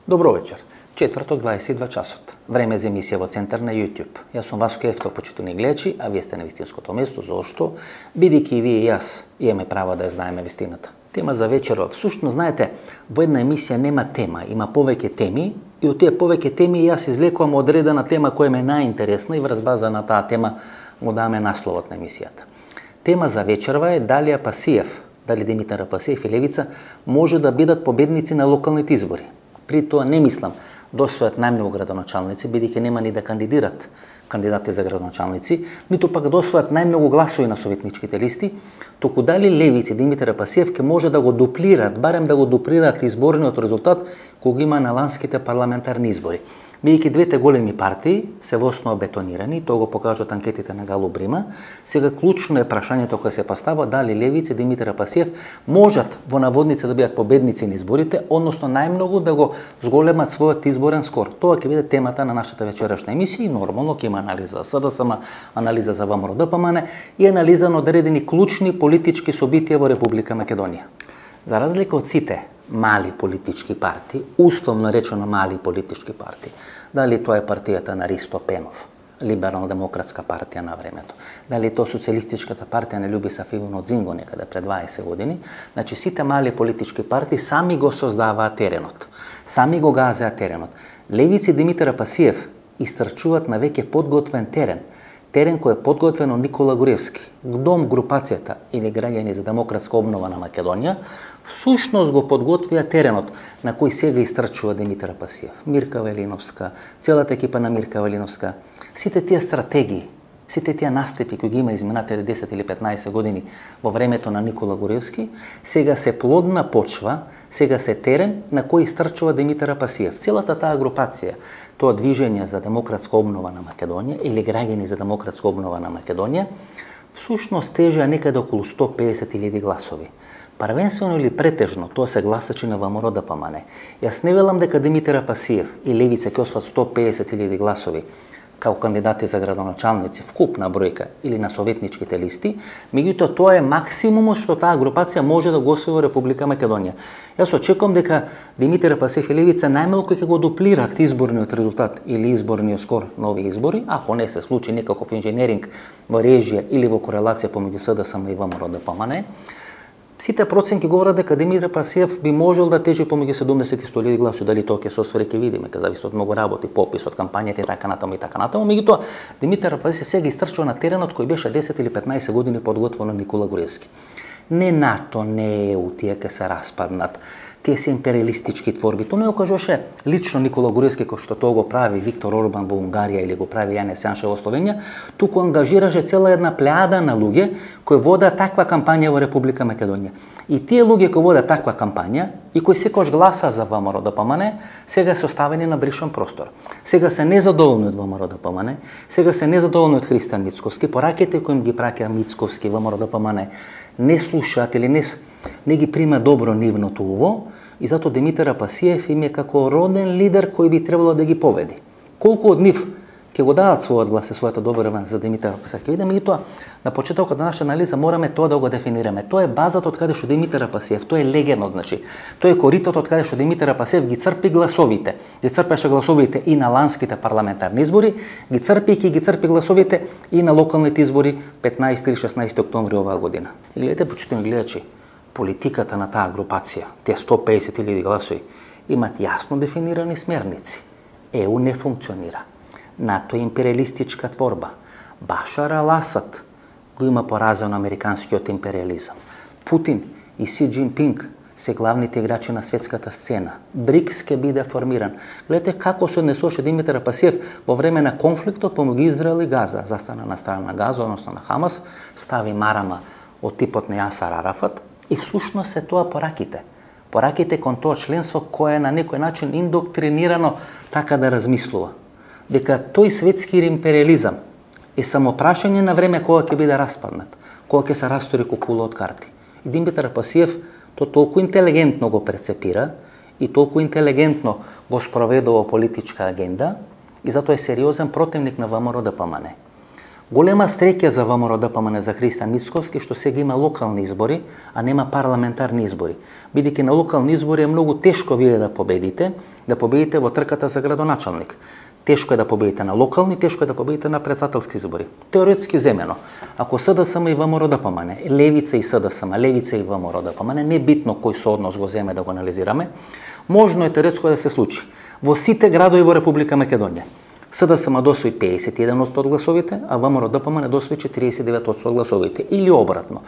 Добро вечер. Четврток, 22 часот. Време за емисија во центар на YouTube. Јас сум Васко Ефтов, почитувани гледачи, а вие сте на вистинското место. Зошто? Бидејќи и вие и јас имаме право да ја знаеме вистината. Тема за вечеров. Всушност, знаете, во една емисија нема тема, има повеќе теми и од тие повеќе теми јас извлекувам одредена тема која ме најинтересна и врз база на таа тема му даваме насловот на емисијата. Тема за вечерва е дали Апасиев, дали Димитар Апасиев и Левица може да бидат победници на локалните избори. При тоа не мислам да освојат најмногу градоначалници, бидејќи нема ни да кандидират кандидати за градоначалници, ниту пак да освојат најмногу гласови на советничките листи, туку дали Левица и Димитар Апасиев ќе може да го дуплираат, барем да го дуплираат изборниот резултат кога има на ланските парламентарни избори. Бидејќи двете големи партии се во основа бетонирани, тоа го покажуваат анкетите на Галу Брима, сега клучно е прашањето кое се поставува дали Левица и Димитар Апасиев можат во наводница да бидат победници на изборите, односно најмногу да го зголемат својот изборен скор. Тоа ќе биде темата на нашата вечерашна емисија и нормално ќе има анализа за СДСМ, анализа за ВМРО-ДПМН и анализа на одредени клучни политички собитија во Република Македонија. За разлика од сите мали политички партии, условно речено мали политички партии, дали тоа е партијата на Ристо Пенов, Либерално-демократска партија на времето, дали тоа социјалистичката партија на Љубиса Иванов Дзинго некаде пред 20 години, значи сите мали политички партии сами го создаваат теренот, сами го газеат теренот. Левица и Димитар Апасиев истрчуваат на веќе подготвен терен кој е подготвен од Никола Груевски. Дом групацијата или граѓани за демократска обнова на Македонија всушност го подготвија теренот на кој сега истрчува Димитар Апасиев, Мирка Велиновска, целата екипа на Мирка Велиновска. Сите тие стратегии, сите тие настапи кои ги има изминатите 10 или 15 години во времето на Никола Груевски, сега се плодна почва, сега се терен на кој истрчува Димитар Апасиев. Целата таа групација, тоа движење за демократска обнова на Македонија или граѓани за демократска обнова на Македонија, всушност тежеа некаде околу 150.000 гласови. Првенствено или претежно, тоа се гласачи на ВМРО-ДПМН. Јас не велам дека Димитар Апасиев и Левица ќе освојат 150.000 гласови како кандидати за градоначалници, вкупна бројка или на советничките листи, меѓутоа тоа е максимумот што таа групација може да го освои во Република Македонија. Јас очекувам дека Димитар Апасиев и Левица најмалку ќе го дуплираат изборниот резултат или изборниот скор на овие избори, ако не се случи некаков инженеринг во режија или во корелација помеѓу СДСМ и ВМРО-ДПМН. Сите проценки говорат дека Димитар Апасиев би можел да тежи помеѓу 70 и 100.000 гласови, дали тоа ќе се освари ќе видиме, ќе зависи од многу работи, попис, од кампањата и така натаму и така натаму. Меѓутоа, Димитар Апасиев сега истрчува на теренот кој беше 10 или 15 години подготвен од Никола Груевски. Не НАТО, не ЕУ, тие ќе се распаднат. Тие се империалистички творби. Тоа не го кажуваше лично Никола Груевски, кој што тоа го прави Виктор Орбан во Унгарија или го прави Јанез Јаншев во Словенија, туку ангажираше цела една плејада на луѓе кои водат таква кампања во Република Македонија. И тие луѓе кои водат таква кампања и кои секогаш гласа за ВМРО-ДПМН, сега се оставени на бришен простор. Сега се незадоволни од ВМРО-ДПМН, сега се незадоволни од Христијан Мицковски, пораките кои им ги праќа Мицковски ВМРО-ДПМН не слушаат или не ги прима добро нивното уво, и затоа Димитар Апасиев им е како роден лидер кој би требало да ги поведи. Колку од нив ќе го дадат својот глас и својата доверба за Димитар Апасиев, ќе видиме, меѓутоа на почетокот на нашата анализа мораме тоа да го дефинираме. Тоа е базата од каде што Димитар Апасиев, тоа е легенот, значи. Тоа е коритот од каде што Димитар Апасиев ги црпи гласовите. Ги црпеше гласовите и на ланските парламентарни избори, ги црпи гласовите и на локалните избори 15 или 16 октомври оваа година. И гледате, почитувани гледачи, политиката на таа групација, тие 150.000 гласови, имат јасно дефинирани смерници. ЕУ не функционира. НАТО е империалистичка творба. Башар ал-Асад го има поразен американскиот империализам. Путин и Си Џинпинг се главните играчи на светската сцена. БРИКС ќе биде формиран. Гледате како се однесуваше Димитар Апасиев во време на конфликтот помеѓу Израел и Газа. Застана на страна на Газа, односно на Хамас, стави марама од типот на Јасар Арафат, и всушност се тоа пораките. Пораките кон тоа членство кое е на некој начин индоктринирано така да размислува. Дека тој светски империализам е само прашање на време кога ќе биде распаднат, кога ќе се растори кукула од карти. И Димитар Апасиев то толку интелигентно го прецепира и толку интелигентно го спроведува политичка агенда и затоа е сериозен противник на ВМРО-ДПМН. Голема среќа за ВМРО ДПМН за Христијан Мицкоски што сега има локални избори, а нема парламентарни избори. Бидејќи на локални избори е многу тешко вие да победите во трката за градоначалник. Тешко е да победите на локални, тешко е да победите на претседателски избори. Теоретски земено, ако СДСМ и ВМРО ДПМН, левица и СДСМ, левица и ВМРО ДПМН, не битно кој сооднос го земе да го анализираме, можно е теоретско да се случи во сите градови во Република Македонија. СДСМ досвои 51% од гласовите, а ВМРО ДПМН досвои 49% од гласовите. Или обратно.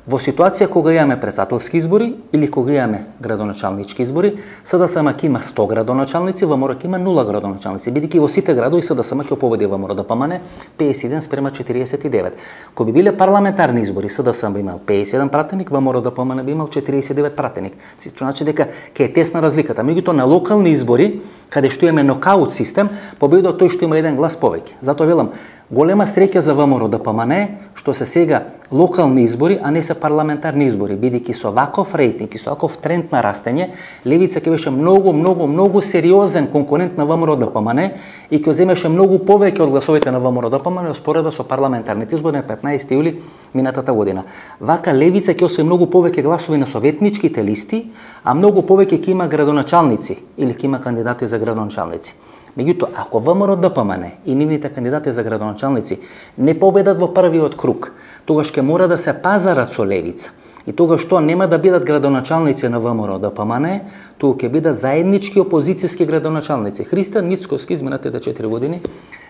Во ситуација кога имаме претседателски избори или кога имаме градоначалнички избори, СДСМ ќе има 100 градоначалници, ВМРО ќе има 0 градоначалници, бидејќи во сите градови СДСМ ќе победи ВМРО ДПМН 51 спрема 49. Кога би биле парламентарни избори, СДСМ би имал 51 пратеник, ВМРО ДПМН би имал 49 пратеник. Значи дека ќе е тесна разликата. Меѓутоа на локални избори, каде што имаме нокаут систем, победува тој што има еден глас повеќе. Затоа велам, голема среќа за ВМРО ДПМН што се сега локални избори, а не се парламентарни избори, бидејќи со ваков рейтинг и со ваков тренд на растење, левица ќе беше многу сериозен конкурент на ВМРО ДПМН и ќе земеше многу повеќе од гласовите на ВМРО ДПМН во споредба со парламентарните избори на 15 јули минатата година. Вака левица ќе освои многу повеќе гласови на советничките листи, а многу повеќе ќе има градоначалници или ќе има кандидати за градоначалници. Меѓутоа, ако ВМРО ДПМН и нивните кандидати за градоначалници не победат во првиот круг, тогаш ќе мора да се пазарат со левица. И тогаш тоа нема да бидат градоначалници на ВМРО ДПМН, туку ќе бидат заеднички опозицијски градоначалници. Христијан Мицкоски изминатите 4 години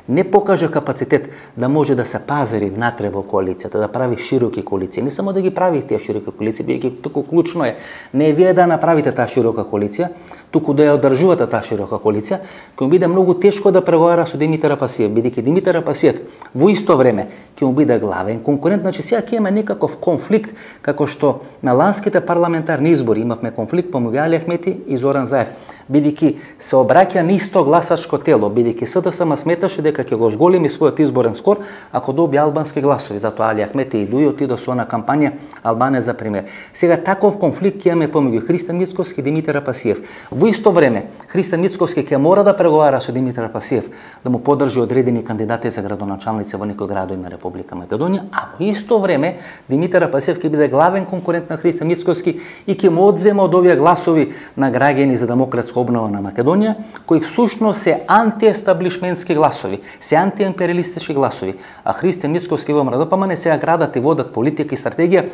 не покажа капацитет да може да се пазари внатре во коалицијата, да прави широки коалиции. Не само да ги прави тие широки коалиции, бидејќи туку клучно е не вие да направите таа широка коалиција, туку да ја одржувате таа широка коалиција, ќе му биде многу тешко да преговара со Димитар Апасиев, бидејќи Димитар Апасиев во исто време ќе му биде главен конкурент, значи сега ќе имаме некаков конфликт, како што на ланските парламентарни избори имавме конфликт помеѓу Али Ахмети и Зоран Заев, бидејќи се обраќа на исто гласачко тело, бидејќи СДСМ сметаше дека ќе го зголеми својот изборен скор ако доби албански гласови. Затоа Али Ахмети и Дуј отидо со на кампања Албанија за премиер. Сега таков конфликт ќе имаме помеѓу Христијан Мицкоски и Димитар Апасиев. Во исто време Христијан Мицкоски ќе мора да преговара со Димитар Апасиев да му подржи одредени кандидати за градоначалници во некои градови на Република Македонија, а во исто време Димитар Апасиев ќе биде главен конкурент на Христијан Мицкоски и ќе му одзема од овие гласови на граѓани за демократска обнова на Македонија, кои всушност се антиестаблишментски гласови, се антиимпериалистички гласови, а Христијан Мицкоски и ВМРО ДПМН сега градат и водат политика и стратегија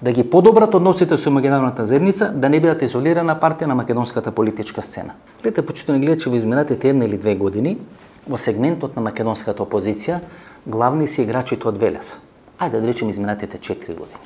да ги подобрат односите со меѓународната заедница, да не бидат изолирана партија на македонската политичка сцена. Гледате, почитувани гледачи, во изминатите 1 или 2 години, во сегментот на македонската опозиција, главни се играчите од Велес. Ајде да речем изминатите 4 години.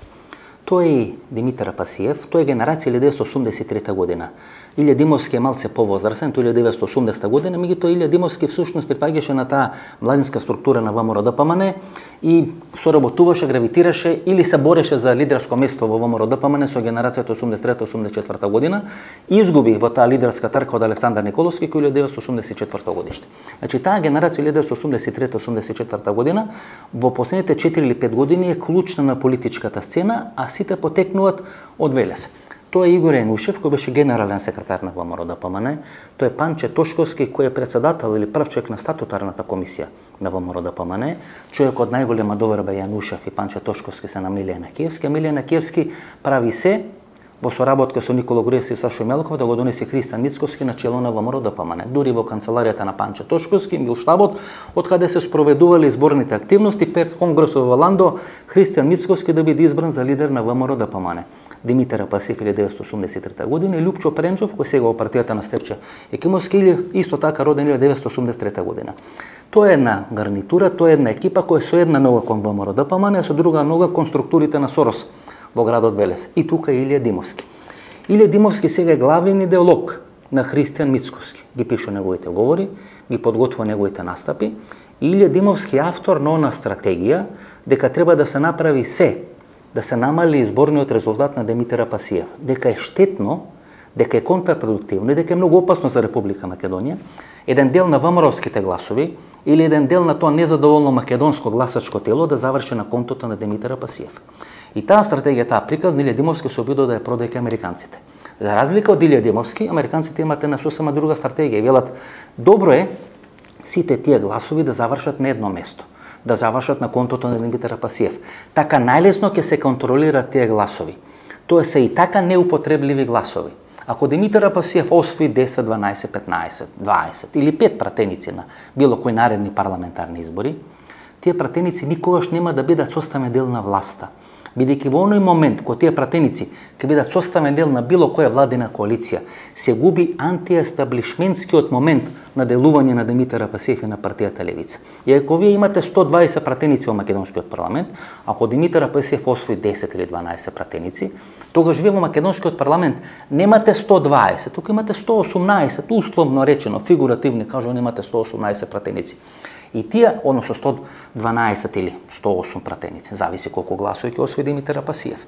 Тој е Димитар Апасиев, тој е генерација 1983 година. Илија Димовски е малце повозрасен, тој 1980 година, меѓутоа Илија Димовски всушност припаѓаше на таа младинска структура на ВМРО ДПМН и соработуваше, гравитираше или се бореше за лидерско место во ВМРО ДПМН со генерацијата 83-84 година и изгуби во таа лидерска трка од Александар Николовски кој 1984 годиште. Значи таа генерација 1983-84 година во последните 4 или 5 години е клучна на политичката сцена, а сите потекнуваат од Велес. Тоа е Игор Јанушев, кој беше генерален секретар на ВМРО ДПМН, тоа е Панче Тошковски, кој е председател или прв човек на статутарната комисија на ВМРО ДПМН, човек од најголема доверба Јанушев и Панче Тошковски се на Милијана Киевски, а Милијана Киевски прави се во соработка со Никола Груевски и Сашо Мелков да го донесе Христијан Мицкоски на чело на ВМРО ДПМН. Дури во канцеларијата на Панче Тошковски, Милштабот, од каде се спроведувале изборните активности пред конгресот во Ландо, Христијан Мицкоски да биде избран за лидер на ВМРО ДПМН. Димитар Апасиев 1983 година и Лјупчо Пренчов, кој сега во партијата на Стефче Екимовски, или исто така роден 1983 година. Тоа е една гарнитура, тоа е една екипа која со една нога кон ВМРО ДПМН, а со друга нога кон структурите на Сорос во градот Велес. И тука е Илија Димовски. Илија Димовски сега е главен идеолог на Христијан Мицкоски. Ги пише неговите говори, ги подготвува неговите настапи. Илија Димовски е автор на она стратегија дека треба да се направи се да се намали изборниот резултат на Димитар Апасиев, дека е штетно, дека е контрапродуктивно и дека е многу опасно за Република Македонија, еден дел на ВМРО-ските гласови или еден дел на тоа незадоволно македонско гласачко тело да заврши на контото на Димитар Апасиев. И таа стратегија, таа приказ на Илија Димовски се обидува да ја продаде американците. За разлика од Илија Димовски, американците имате на сосема друга стратегија и велат добро е сите тие гласови да завршат на едно место, да завршат на контото на Димитар Апасиев. Така најлесно ќе се контролираат тие гласови. Тоа се и така неупотребливи гласови. Ако Димитар Апасиев освои 10, 12, 15, 20 или 5 пратеници на било кои наредни парламентарни избори, тие пратеници никогаш нема да бидат составен дел на власта. Бидејќи во оној момент кога тие пратеници ќе бидат составен дел на било која владина коалиција, се губи антиестаблишментскиот момент на делување на Димитар Апасиев и на партијата Левица. И ако вие имате 120 пратеници во македонскиот парламент, ако Димитар Апасиев освои 10 или 12 пратеници, тогаш вие во македонскиот парламент немате 120, тука имате 118, условно речено, фигуративно кажано, имате 118 пратеници. И тие, односно 112 или 108 пратеници, зависи колку гласови ќе освои Димитар Апасиев.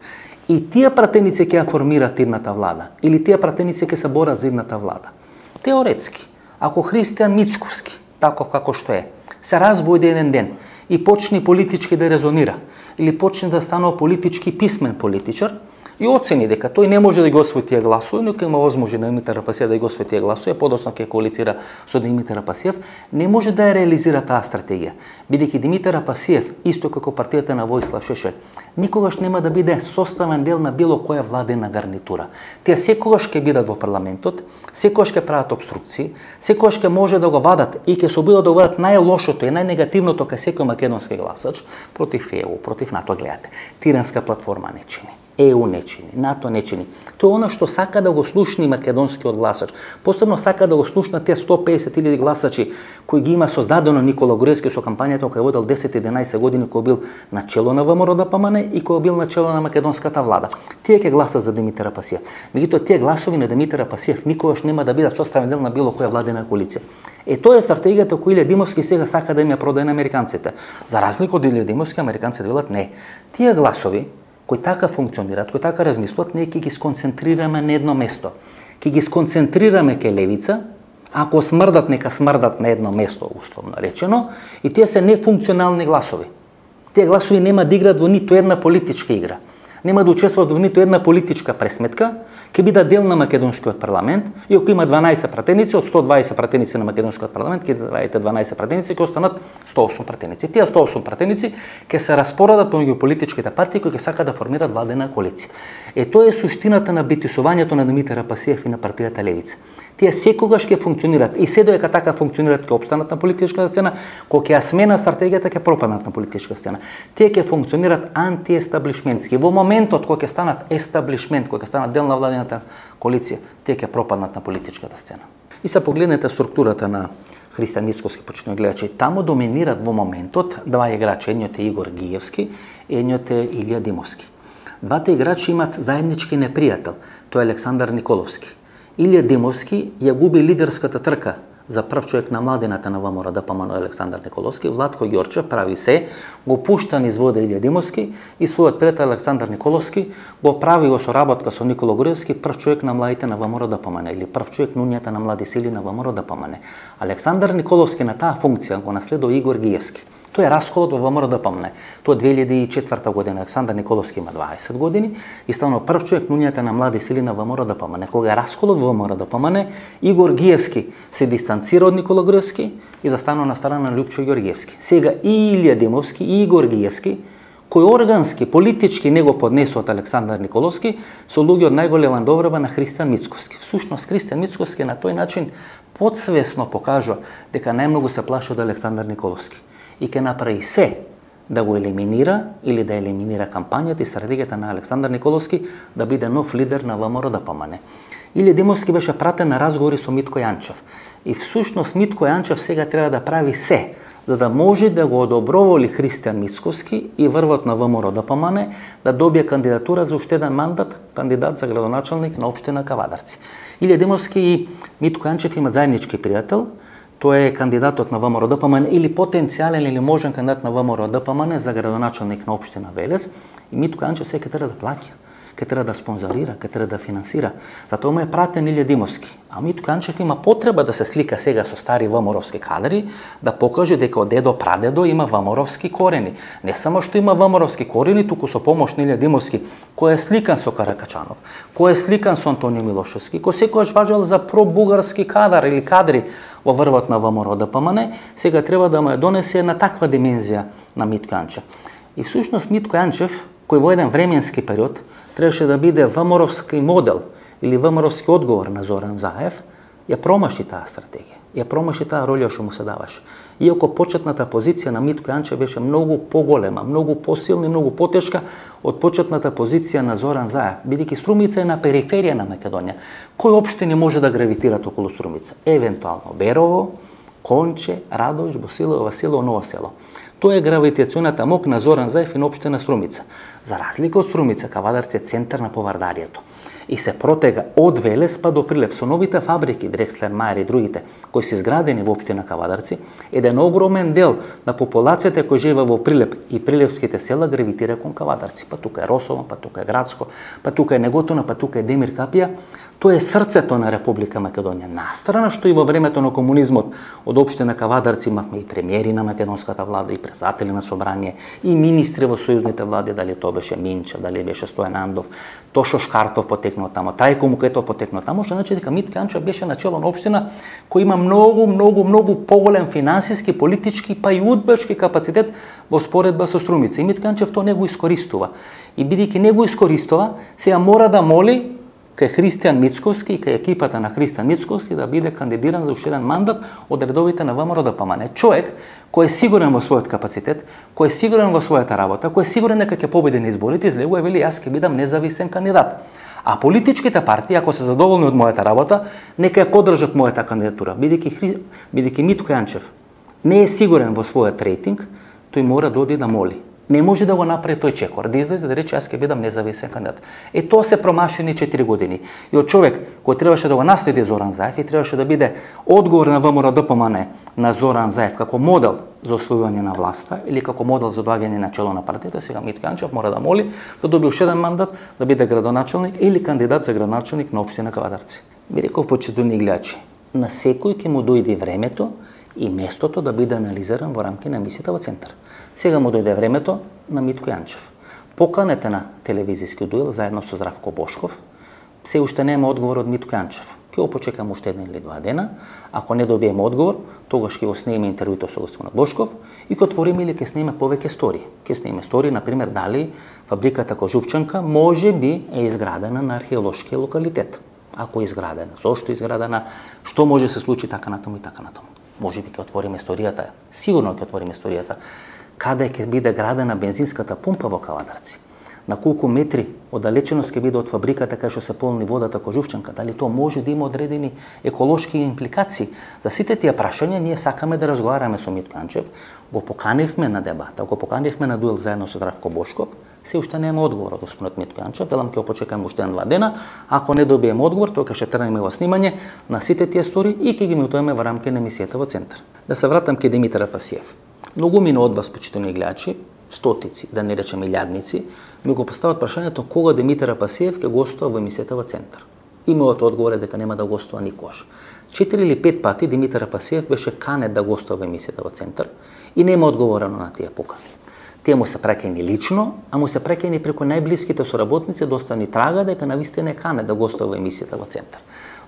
И тие пратеници ќе ја формираат идната влада, или тие пратеници ќе се борат за идната влада. Теоретски, ако Христијан Мицковски, таков како што е, се разбуди еден ден и почне политички да резонира, или почне да станува политички писмен политичар, и оцени дека тој не може да ги освои тие гласови, но ќе има возможност на Димитар Апасиев да ги освои тие гласови, подоцна ќе коалицира со Димитар Апасиев, не може да ја реализира таа стратегија, бидејќи Димитар Апасиев, исто како партијата на Војслав Шешел, никогаш нема да биде составен дел на било која владина гарнитура. Тие секогаш ќе бидат во парламентот, секогаш ќе прават обструкции, секогаш ќе може да го вадат и ќе се обидат да го вадат најлошото и најнегативното кај секој македонски гласач против ЕУ, против НАТО. Гледате, тиранска платформа не чини. ЕУ не чини, НАТО не чини. Тоа е она што сака да го слушни македонскиот гласач. Посебно сака да го слушнат тие 150.000 гласачи кои ги има создадено Никола Груевски со кампањата која водел 10-11 години, кој бил на чело на ВМРО-ДПМН и кој бил на чело на македонската влада. Тие ќе гласат за Димитар Апасиев. Меѓутоа тие гласови на Димитар Апасиев никогаш нема да бидат составен дел на било која владина коалиција. Тоа е стратегијата која Илија Димовски сега сака да им ја продаде на американците. За разлика од Илија Димовски, американците велат не. Тие гласови кои така функционираат, кои така размислуват, ние ќе ги сконцентрираме на едно место. Ќе ги сконцентрираме кај левица, ако смрдат, нека смрдат на едно место, условно речено, и тие се нефункционални гласови. Тие гласови нема да играат во ниту една политичка игра. Нема да учествуваат во ниту една политичка пресметка, ќе бидат дел на македонскиот парламент, и ако има 12 пратеници, од 120 пратеници на македонскиот парламент, ќе дадете 12 пратеници, ќе останат 108 пратеници. Тие 108 пратеници ќе се распоредат помеѓу политичките партии кои ќе сакаат да формираат владена коалиција. Тоа е суштината на битисувањето на Димитар Апасиев и на партијата Левица. Тие секогаш ќе функционираат и се додека така функционираат ќе опстанат на политичката сцена, кога ќе ја смена стратегијата ќе пропаднат на политичката сцена. Тие ќе функционираат антиестаблишментски. Во моментот кога ќе станат естаблишмент, кога ќе станат дел на владината коалиција, тие ќе пропаднат на политичката сцена. И се погледнете структурата на Христијан Мицковски, почитувани гледачи, таму доминират во моментот два играчи, едниот е Игор Гиевски, едниот е Илија Димовски. Двата играчи имаат заеднички непријател, тоа е Александар Николовски. Илија Димовски ја губи лидерската трка за прв човек на младината на ВМРО-ДПМН Александар Николовски. Владко Ѓорчев прави се, го пушта низ вода Илија Димовски и својот пријател Александар Николовски го прави во соработка со Никола Груевски прв човек на младите на ВМРО-ДПМН или прв човек на унијата на млади сили на ВМРО-ДПМН. Александар Николовски на таа функција го наследува Игор Гиевски. Тоа е расколот во ВМРО-ДПМН. Тоа 2004 година. Александар Николовски има 20 години и станува прв човек на унијата на млади сили на ВМРО-ДПМН. Кога е расколот во ВМРО-ДПМН, Игор Гиевски се дистанцира од Никола Груевски и застанува на страна на Љупчо Ѓорѓевски. Сега и Илија Димовски и Игор Гиевски, кој органски, политички не го поднесуваат Александар Николовски, со луѓе од најголема доброба на Христијан Мицковски. Всушност Христијан Мицковски на тој начин подсвесно покажува дека најмногу се плаши од Александар Николовски и ќе направи се да го елиминира или да елиминира кампањата и стратегијата на Александар Николовски да биде нов лидер на ВМРО-ДПМН. Илија Димовски беше пратен на разговори со Митко Јанчев. И всушност Митко Јанчев сега треба да прави се за да може да го одоброволи Христијан Мицковски и врвот на ВМРО-ДПМН да добие кандидатура за уште еден мандат, кандидат за градоначалник на општина Кавадарци. Илија Димовски и Митко Јанчев имаат заеднички пријател. Тој е кандидатот на ВМРО-ДПМН или потенцијален или можен кандидат на ВМРО-ДПМН за градоначалник на општина Велес. И Митко Јанчев сега треба да плаќа. ке треба да спонзорира, ке треба да финансира. Затоа му е пратен Илја Димовски. А Митко Јанчев има потреба да се слика сега со стари ВМРО-овски кадри, да покаже дека од дедо прадедо има ВМРО-овски корени. Не само што има ВМРО-овски корени, туку со помош на Илја Димовски, кој е сликан со Каракачанов, кој е сликан со Антонио Милошевски, кој секогаш важел за пробугарски кадар или кадри во врвот на ВМРО ДПМН, сега треба да му ја донесе на таква димензија на Митко Јанчев. И всушност Митко Јанчев, кој во еден временски период требаше да биде ВМРО-овски модел или ВМРО-овски одговор на Зоран Заев, ја промаши таа стратегија. Ја промаши таа роља што му се даваше. Иако почетната позиција на Митко Јанчев беше многу поголема, многу посилна и многу потешка од почетната позиција на Зоран Заев, бидејќи Струмица е на периферија на Македонија. Кој општини може да гравитират околу Струмица? Евентуално Берово, Конче, Радовиш, Босилово, Василово, Ново село. Тоа е гравитационата мок на Зоран Заев и на општина Струмица. За разлика од Струмица, Кавадарци е центар на повардарието. И се протега од Велес па до Прилеп со новите фабрики, Дрекслер, Мајер и другите, кои се изградени во општина Кавадарци, еден огромен дел на популацијата кој живее во Прилеп и прилепските села гравитира кон Кавадарци. Па тука е Росово, па тука е Градско, па тука е Неготино, па тука е Демир Капија. Тоа е срцето на Република Македонија. Настрана што и во времето на комунизмот од општина Кавадарци имавме и премиери на македонската влада, и председатели на собрание, и министри во сојузните влади, дали тоа беше Минчев, дали беше Стојан Андов, Тошо Шкартов потекнал тамо, Трајко Мукетов потекнал тамо, што значи дека Митко Јанчев беше начело на општина кој има многу поголем финансиски, политички па и удбешки капацитет во споредба со Струмица. И Митко Јанчев тоа не го искористува. И бидејќи не го искористува, сега мора да моли кај Христијан Мицковски и кај екипата на Христијан Мицковски да биде кандидиран за уште еден мандат од редовите на ВМРО ДПМН. Човек кој е сигурен во својот капацитет, кој е сигурен во својата работа, кој е сигурен дека ќе победи на изборите, излегува и вели јас ќе бидам независен кандидат. А политичките партии, ако се задоволни од мојата работа, нека ја поддржат мојата кандидатура. Бидејќи Митко Јанчев не е сигурен во својот рейтинг, тој мора да оди да моли. Не може да го направи тој чекор, да излезе да рече јас ќе бидам независен кандидат. Тоа се промашени 4 години. И од човек кој требаше да го наследи Зоран Заев и требаше да биде одговор на ВМРО ДПМН на Зоран Заев како модел за освојување на власта или како модел за доаѓање на чело на партијата, сега Митко Јанчев мора да моли да доби уште еден мандат да биде градоначелник или кандидат за градоначелник на општина Кавадарци. Ви реков, почитувани гледачи, на секој ќе му дојде времето и местото да биде анализиран во рамки на емисијата во Центар. Сега му дојде времето на Митко Јанчев. Поканете на телевизиски дуел заедно со Здравко Бошков. Се уште нема одговор од Митко Јанчев. Ќе го почекам уште 1 или 2 дена. Ако не добиеме одговор, тогаш ќе го снимеме интервјуто со господинот Бошков и ќе отвориме или ќе снимеме повеќе стори. Ќе снимеме стори, например, дали фабриката Кожувчанка може би е изградена на археолошки локалитет. Ако е изградена, зошто е изградена, што може се случи така натаму и така натаму. Може би ќе отвориме историјата, сигурно ќе отвориме историјата, каде ќе биде градена бензинската пумпа во Кавадарци, на колку метри оддалеченост ќе биде од фабриката кај што се полни водата Кожувчанка, дали тоа може да има одредени еколошки импликации. За сите тие прашања ние сакаме да разговараме со Митко Јанчев, го поканивме на дебата, го поканивме на дуел заедно со Здравко Бошков, се уште нема одговор од господинот Митко Јанчев, велам ќе почекаме уште 1-2 дена, ако не добиеме одговор, тоа ќе тргнеме во снимање на сите тие стори и ќе ги емитуваме во рамки на емисијата во Центар. Да се вратам ке Димитар Апасиев. Многу мина од вас, почитувани гледачи, стотици, да не речем илјадници, ми го постават прашањето кога Димитар Апасиев ќе гостува во емисијата во Центар. И мојот одговор е дека нема да гостува никогаш. 4 или 5 пати Димитар Апасиев беше канет да гостува во емисијата во Центар и нема одговорено на тие покани. Тие му се праќајни лично, а му се праќајни преку најблиските соработници, доста трага дека навистина е канет да гостува во емисијата во Центар.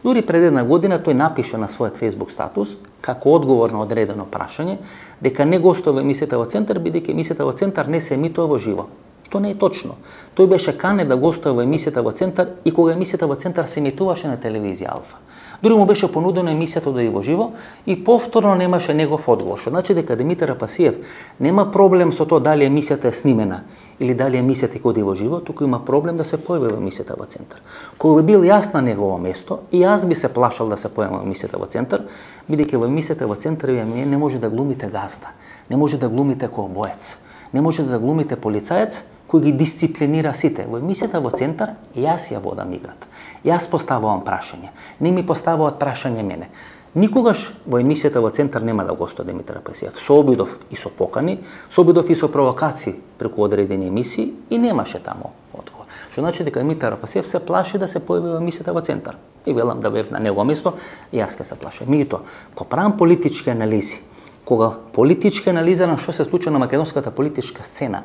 Дури пред 1 година тој напише на својот Facebook статус, како одговор на одредено прашање, дека не гостува во емисијата во Центар, бидејќи емисијата во Центар не се емитува во живо. Што не е точно. Тој беше канет да гостува во емисијата во Центар и кога емисијата во Центар се емитуваше на телевизија Алфа. Дури му беше понудено емисијата да е во живо и повторно немаше негов одговор. Што значи дека Димитар Апасиев нема проблем со тоа дали емисијата е снимена или дали емисијата ќе оди во живо, туку има проблем да се појави во емисијата во Центар. Кога би бил јас на негово место, и јас би се плашал да се појавам во емисијата во Центар, бидејќи во емисијата во Центар вие не може да глумите газда, не може да глумите ковбоец, не може да глумите полицаец кој ги дисциплинира сите. Во емисијата во Центар јас ја водам играта. Јас поставувам прашање. Не ми поставуваат прашање мене. Никогаш во емисијата во Центар нема да гостува Димитар Апасиев. Со обидов и со покани, со обидов и со провокации преку одредени емисии и немаше таму одговор. Што значи дека Димитар Пасиев се плаши да се појави во емисијата во Центар. И велам да бев на негово место, и јас ке се плашам. Меѓутоа, кога правам политички анализи, кога политички анализирам што се случува на македонската политичка сцена,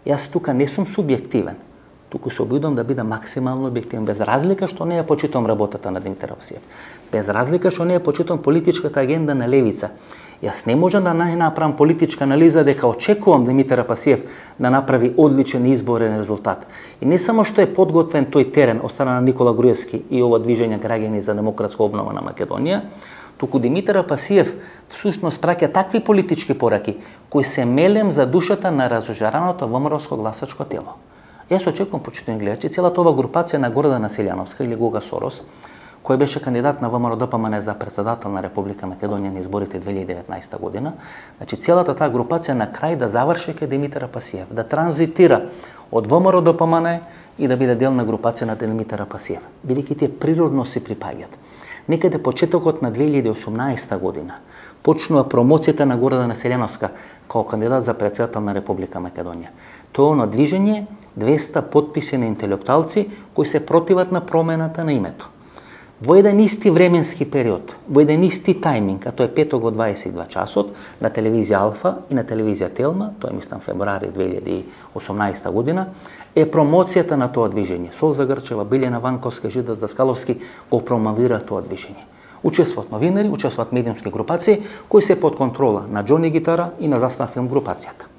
јас тука не сум субјективен. Туку се обидувам да бидам максимално објективен, без разлика што не ја почитувам работата на Димитар Пасиев. Без разлика што не ја почитувам политичката агенда на левица. Јас не можам да направам политичка анализа дека очекувам Димитар Пасиев да направи одличен изборен резултат. И не само што е подготвен тој терен од страна на Никола Груевски и ова движење граѓани за демократска обнова на Македонија, туку Димитар Пасиев всушност праќа такви политички пораки кои се мелем за душата на разожараното ВМРО-ско гласачко тело. Јас очекувам, почитувани гледачи, целата ова групација на Гордана Селјановска или Гога Сорос, кој беше кандидат на ВМРО-ДПМН за председател на Република Македонија на изборите 2019 година, значи целата таа групација на крај да заврши кај Димитар Пасиев, да транзитира од ВМРО-ДПМН и да биде дел на групација на Димитар Пасиев, бидејќи тие природно се припаѓаат. Некаде почетокот на 2018 година почнува промоцијата на Гордана Селјановска како кандидат за председател на Република Македонија. Тоа е оно движење 200 потписи на интелектуалци кои се противат на промената на името. Во еден исти временски период, во еден исти тајминг, а тоа е петок во 22 часот, на телевизија Алфа и на телевизија Телма, тоа е мислам февруари 2018 година, е промоцијата на тоа движење. Солза Грчева, Билјана Ванковска, Жида Даскаловски го промовира тоа движење. Учествуваат новинари, учествуваат медиумски групации кои се под контрола на Џони Гитара и на Застава филм групацијата.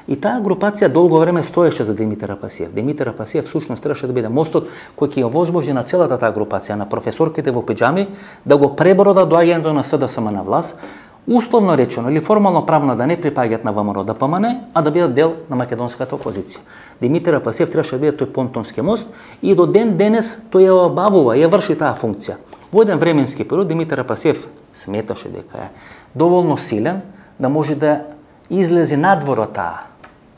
И таа групација долго време стоеше за Димитар Пасиев. Димитар Пасиев всушност требаше да биде мостот кој ќе ја овозможи на целата таа групација, на професорките во пиџами, да го пребродат доаѓањето на СДСМ на власт, условно речено или формално правно да не припаѓаат на ВМРО-ДПМН, а да бидат дел на македонската опозиција. Димитар Пасиев требаше да биде тој понтонски мост и до ден денес тој ја обавува, ја врши таа функција. Во еден временски период Димитар Пасиев сметаше дека е доволно силен да може да излезе надвор од таа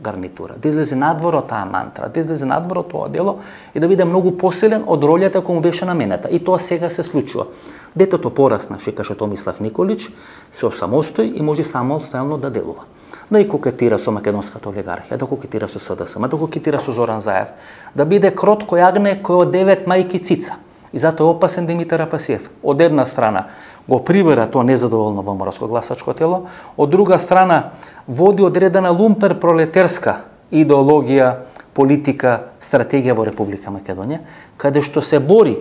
гарнитура, да излезе надвор од таа мантра, да излезе надвор од тоа дело и да биде многу посилен од ролјата која му беше наменета. И тоа сега се случува. Детето порасна, каже Томислав Николич, се осамостои и може самостојално да делува. Да и кокетира со македонската олигархија, да кокетира со СДСМ, да кокетира со Зоран Заев, да биде крот кој агне кој од 9 мајки цица. И затоа е опасен Димитар Пасиев. Од една страна го прибера тоа незадоволно ВМРО-ско гласачко тело, од друга страна води одредена лумпер пролетерска идеологија, политика, стратегија во Република Македонија, каде што се бори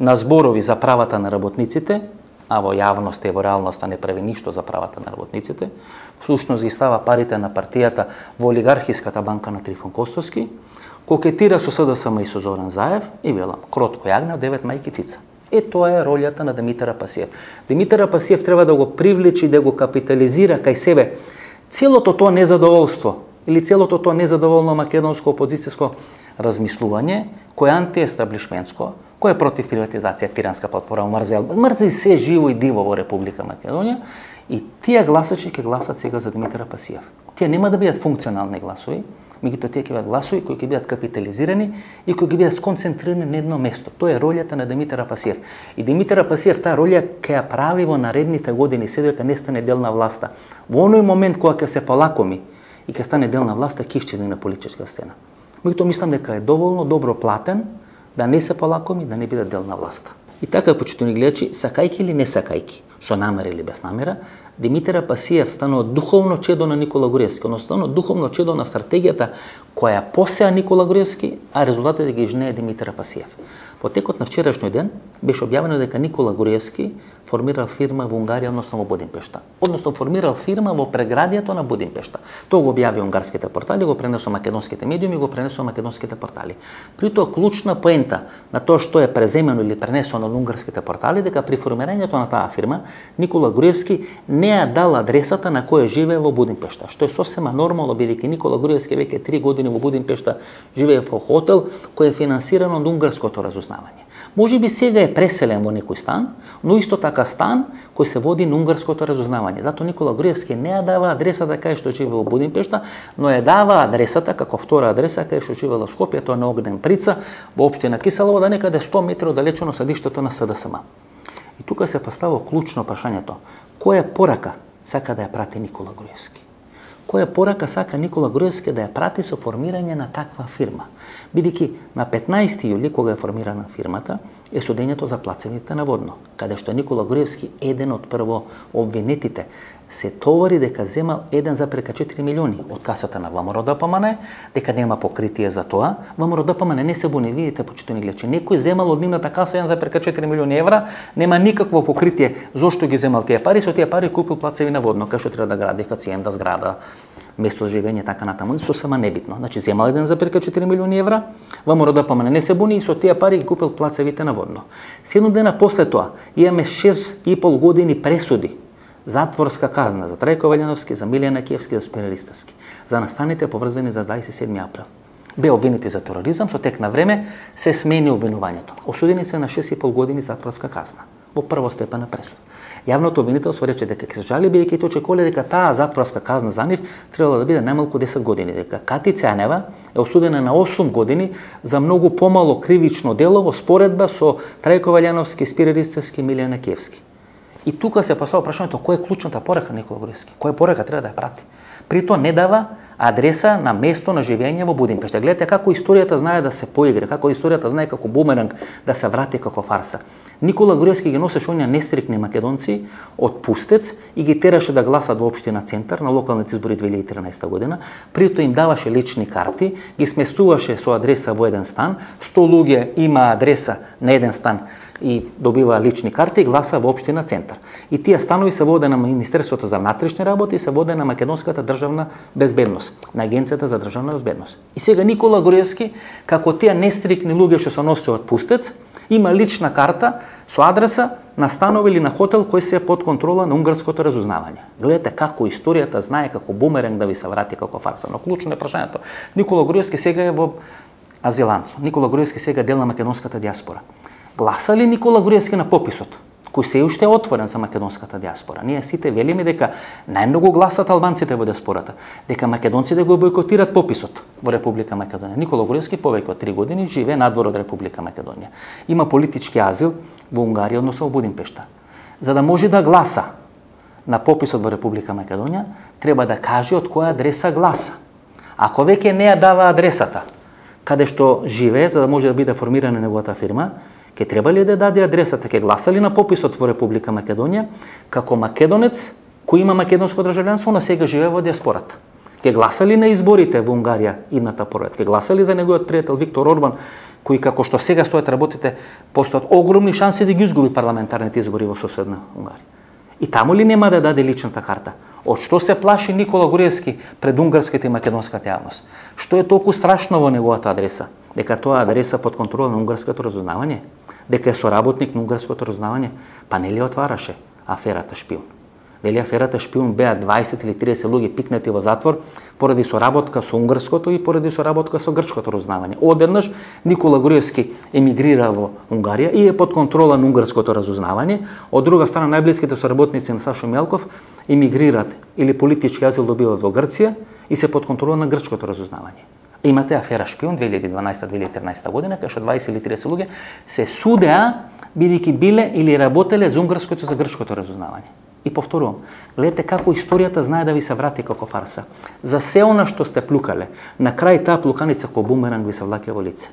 на зборови за правата на работниците, а во јавноста и во реалноста не прави ништо за правата на работниците, всушност ги става парите на партијата во олигархиската банка на Трифон Костовски, кокетира со СДСМ и со Зоран Заев и велам, кротко јагне од 9 мајки цица. Тоа е ролјата на Димитар Пасиев. Димитар Пасиев треба да го привлечи, да го капитализира кај себе целото тоа незадоволство или целото тоа незадоволно македонско опозицијско размислување, кој е антиестаблишментско, кој е против приватизација, тиранска платформа, мрзи се живо и диво во Република Македонија, и тие гласачи ќе гласат сега за Димитар Пасиев. Тие нема да бидат функционални гласови, меѓутоа тие ќе бидат гласови кои ќе бидат капитализирани и кои ќе бидат сконцентрирани на едно место. Тоа е ролјата на Димитар Пасиев. И Димитар Пасиев таа ролја ќе ја прави во наредните години, се додека не стане дел на власта. Во оној момент кога ќе се полакоми и ќе стане дел на власта, ќе исчезне на политичка сцена. Меѓутоа мислам дека е доволно добро платен да не се полакоми, да не биде дел на власта. И така, почитувани гледачи, сакајки или не сакајки, со намера или без намера, Димитар Пасиев станува духовно чедо на Никола Груевски, односно духовно чедо на стратегијата која посеа Никола Груевски, а резултатите ги жнее Димитар Пасиев. Во текот на вчерашниот ден беше објавено дека Никола Груевски формирал фирма во Унгарија, односно во Будимпешта. Односно формирал фирма во преградието на Будимпешта. Тоа го објави унгарските портали, го пренесо македонските медиуми, го пренесо македонските портали. При тоа клучна поента на тоа што е преземено или пренесено на унгарските портали, дека при формирањето на таа фирма Никола Груевски не ја дал адресата на која живее во Будимпешта, што е сосема нормално бидејќи Никола Груевски веќе 3 години во Будимпешта живее во хотел кој е финансиран од унгарското разузнавање. Може би сега е преселен во некој стан, но исто така стан кој се води на унгарското разузнавање. Затоа Никола Груевски не ја дава адресата кај што живее во Будимпешта, но ја дава адресата како втора адреса кај што живее во Скопје, тоа на Огнен Прица, во општина Киселово, да некаде 100 метри оддалечено седиштето на СДСМ. И тука се поставува клучно прашањето: која порака сака да ја прати Никола Груевски? која порака сака Никола Груевски да ја прати со формирање на таква фирма. Бидејќи на 15 јули, кога е формирана фирмата, е судењето за плацевите на Водно, каде што Никола Груевски, еден од прво обвинетите, се товари дека земал 1,4 милиони од касата на ВМРО ДПМН, дека нема покритие за тоа. ВМРО ДПМН не се буни, видите, почитувани гледачи. Некој земал од нивната каса 1,4 милиони евра, нема никакво покритие зошто ги земал тие пари, со тие пари купил плацеви на Водно, кај што треба да гради хациенда, зграда, место за живење, така натаму, сосема небитно. Значи земал 1,4 милиони евра, ВМРО ДПМН не се буни и со тие пари ги купил плацевите на Водно. 7 дена после тоа имаме 6,5 години пресуди, затворска казна за Трајко Ваљановски, за Милијан Акиевски, за Спире Ристовски, за настаните поврзани за 27 април. Бе обвинети за тероризам, со тек на време се смени обвинувањето. Осудени се на 6,5 години затворска казна во првостепена пресуда. Јавното обвинителство рече дека ќе се жали, бидејќи тој очекувале дека таа затворска казна за нив требало да биде најмалку 10 години, дека Кати Цанева е осудена на 8 години за многу помало кривично дело во споредба со Трајко Ваљановски, Спире Ристовски, Милијан Акиевски. И тука се поставува прашањето која е клучната порака Никола Груевски, која порака треба да ја прати. При тоа не дава адреса на место на живење во Будимпешта. Гледате како историјата знае да се поигра, како историјата знае како бумеранг да се врати како фарса. Никола Груевски ги носеше оние нестрикни македонци од Пустец и ги тераше да гласат во општина Центар на локалните избори 2013 година. При тоа им даваше лични карти, ги сместуваше со адреса во еден стан, 100 луѓе има адреса на еден стан и добива лични карти и гласа во општина Центар. И тие станови се воде на Министерството за внатрешни работи и се воде на Македонската државна безбедност, на Агенцијата за државна безбедност. И сега Никола Груевски, како тие нестрикни луѓе што се носеа од Пустец, има лична карта со адреса на станови или на хотел кој се е под контрола на унгарското разузнавање. Гледате како историјата знае како бумеранг да ви се врати како фарса. Но клучно е прашањето. Никола Груевски сега е во азиланцо. Никола Груевски сега е дел на македонската диаспора. Гласа ли Никола Груевски на пописот, кој се уште е отворен за македонската диаспора? Ние сите велиме дека најмногу гласат албанците во диаспората, дека македонците го бойкотират пописот во Република Македонија. Никола Груевски повеќе од 3 години живее надвор од Република Македонија. Има политички азил во Унгарија, односно во Будимпешта. За да може да гласа на пописот во Република Македонија, треба да каже од која адреса гласа. Ако веќе не ја дава адресата каде што живее, за да може да биде формирана неговата фирма, ќе треба ли да даде адресата, ќе гласа ли на пописот во Република Македонија, како македонец кој има македонско државјанство, но сега живее во диаспората? Ќе гласа ли на изборите во Унгарија идната поред? Ќе гласа ли за неговиот пријател Виктор Орбан, кој како што сега стојат работите, постојат огромни шанси да ги изгуби парламентарните избори во соседна Унгарија? И таму ли нема да даде личната карта? Од што се плаши Никола Груевски пред унгарската и македонската јавност? Што е толку страшно во неговата адреса? Дека тоа адреса под контрола на унгарското разузнавање? Дека е соработник на унгарското разузнавање? Па не ли отвараше аферата Шпион? Дали аферата Шпион беа 20 или 30 луѓе пикнати во затвор поради соработка со унгарското и поради соработка со грчкото разузнавање? Одеднаш Никола Груевски емигрира во Унгарија и е под контрола на унгарското разузнавање. Од друга страна, најблиските соработници на Сашо Мелков емигрираат или политички азил добиваат во Грција и се под контрола на грчкото разузнавање. Имате афера Шпион 2012-2013 година, кај што 20 или 30 луѓе се судеа бидејќи биле или работеле за унгарското и за грчкото разузнавање. И повторувам, гледате како историјата знае да ви се врати како фарса. За се она што сте плукале, на крај таа плуканица ко бумеранг ви се влаќа во лице.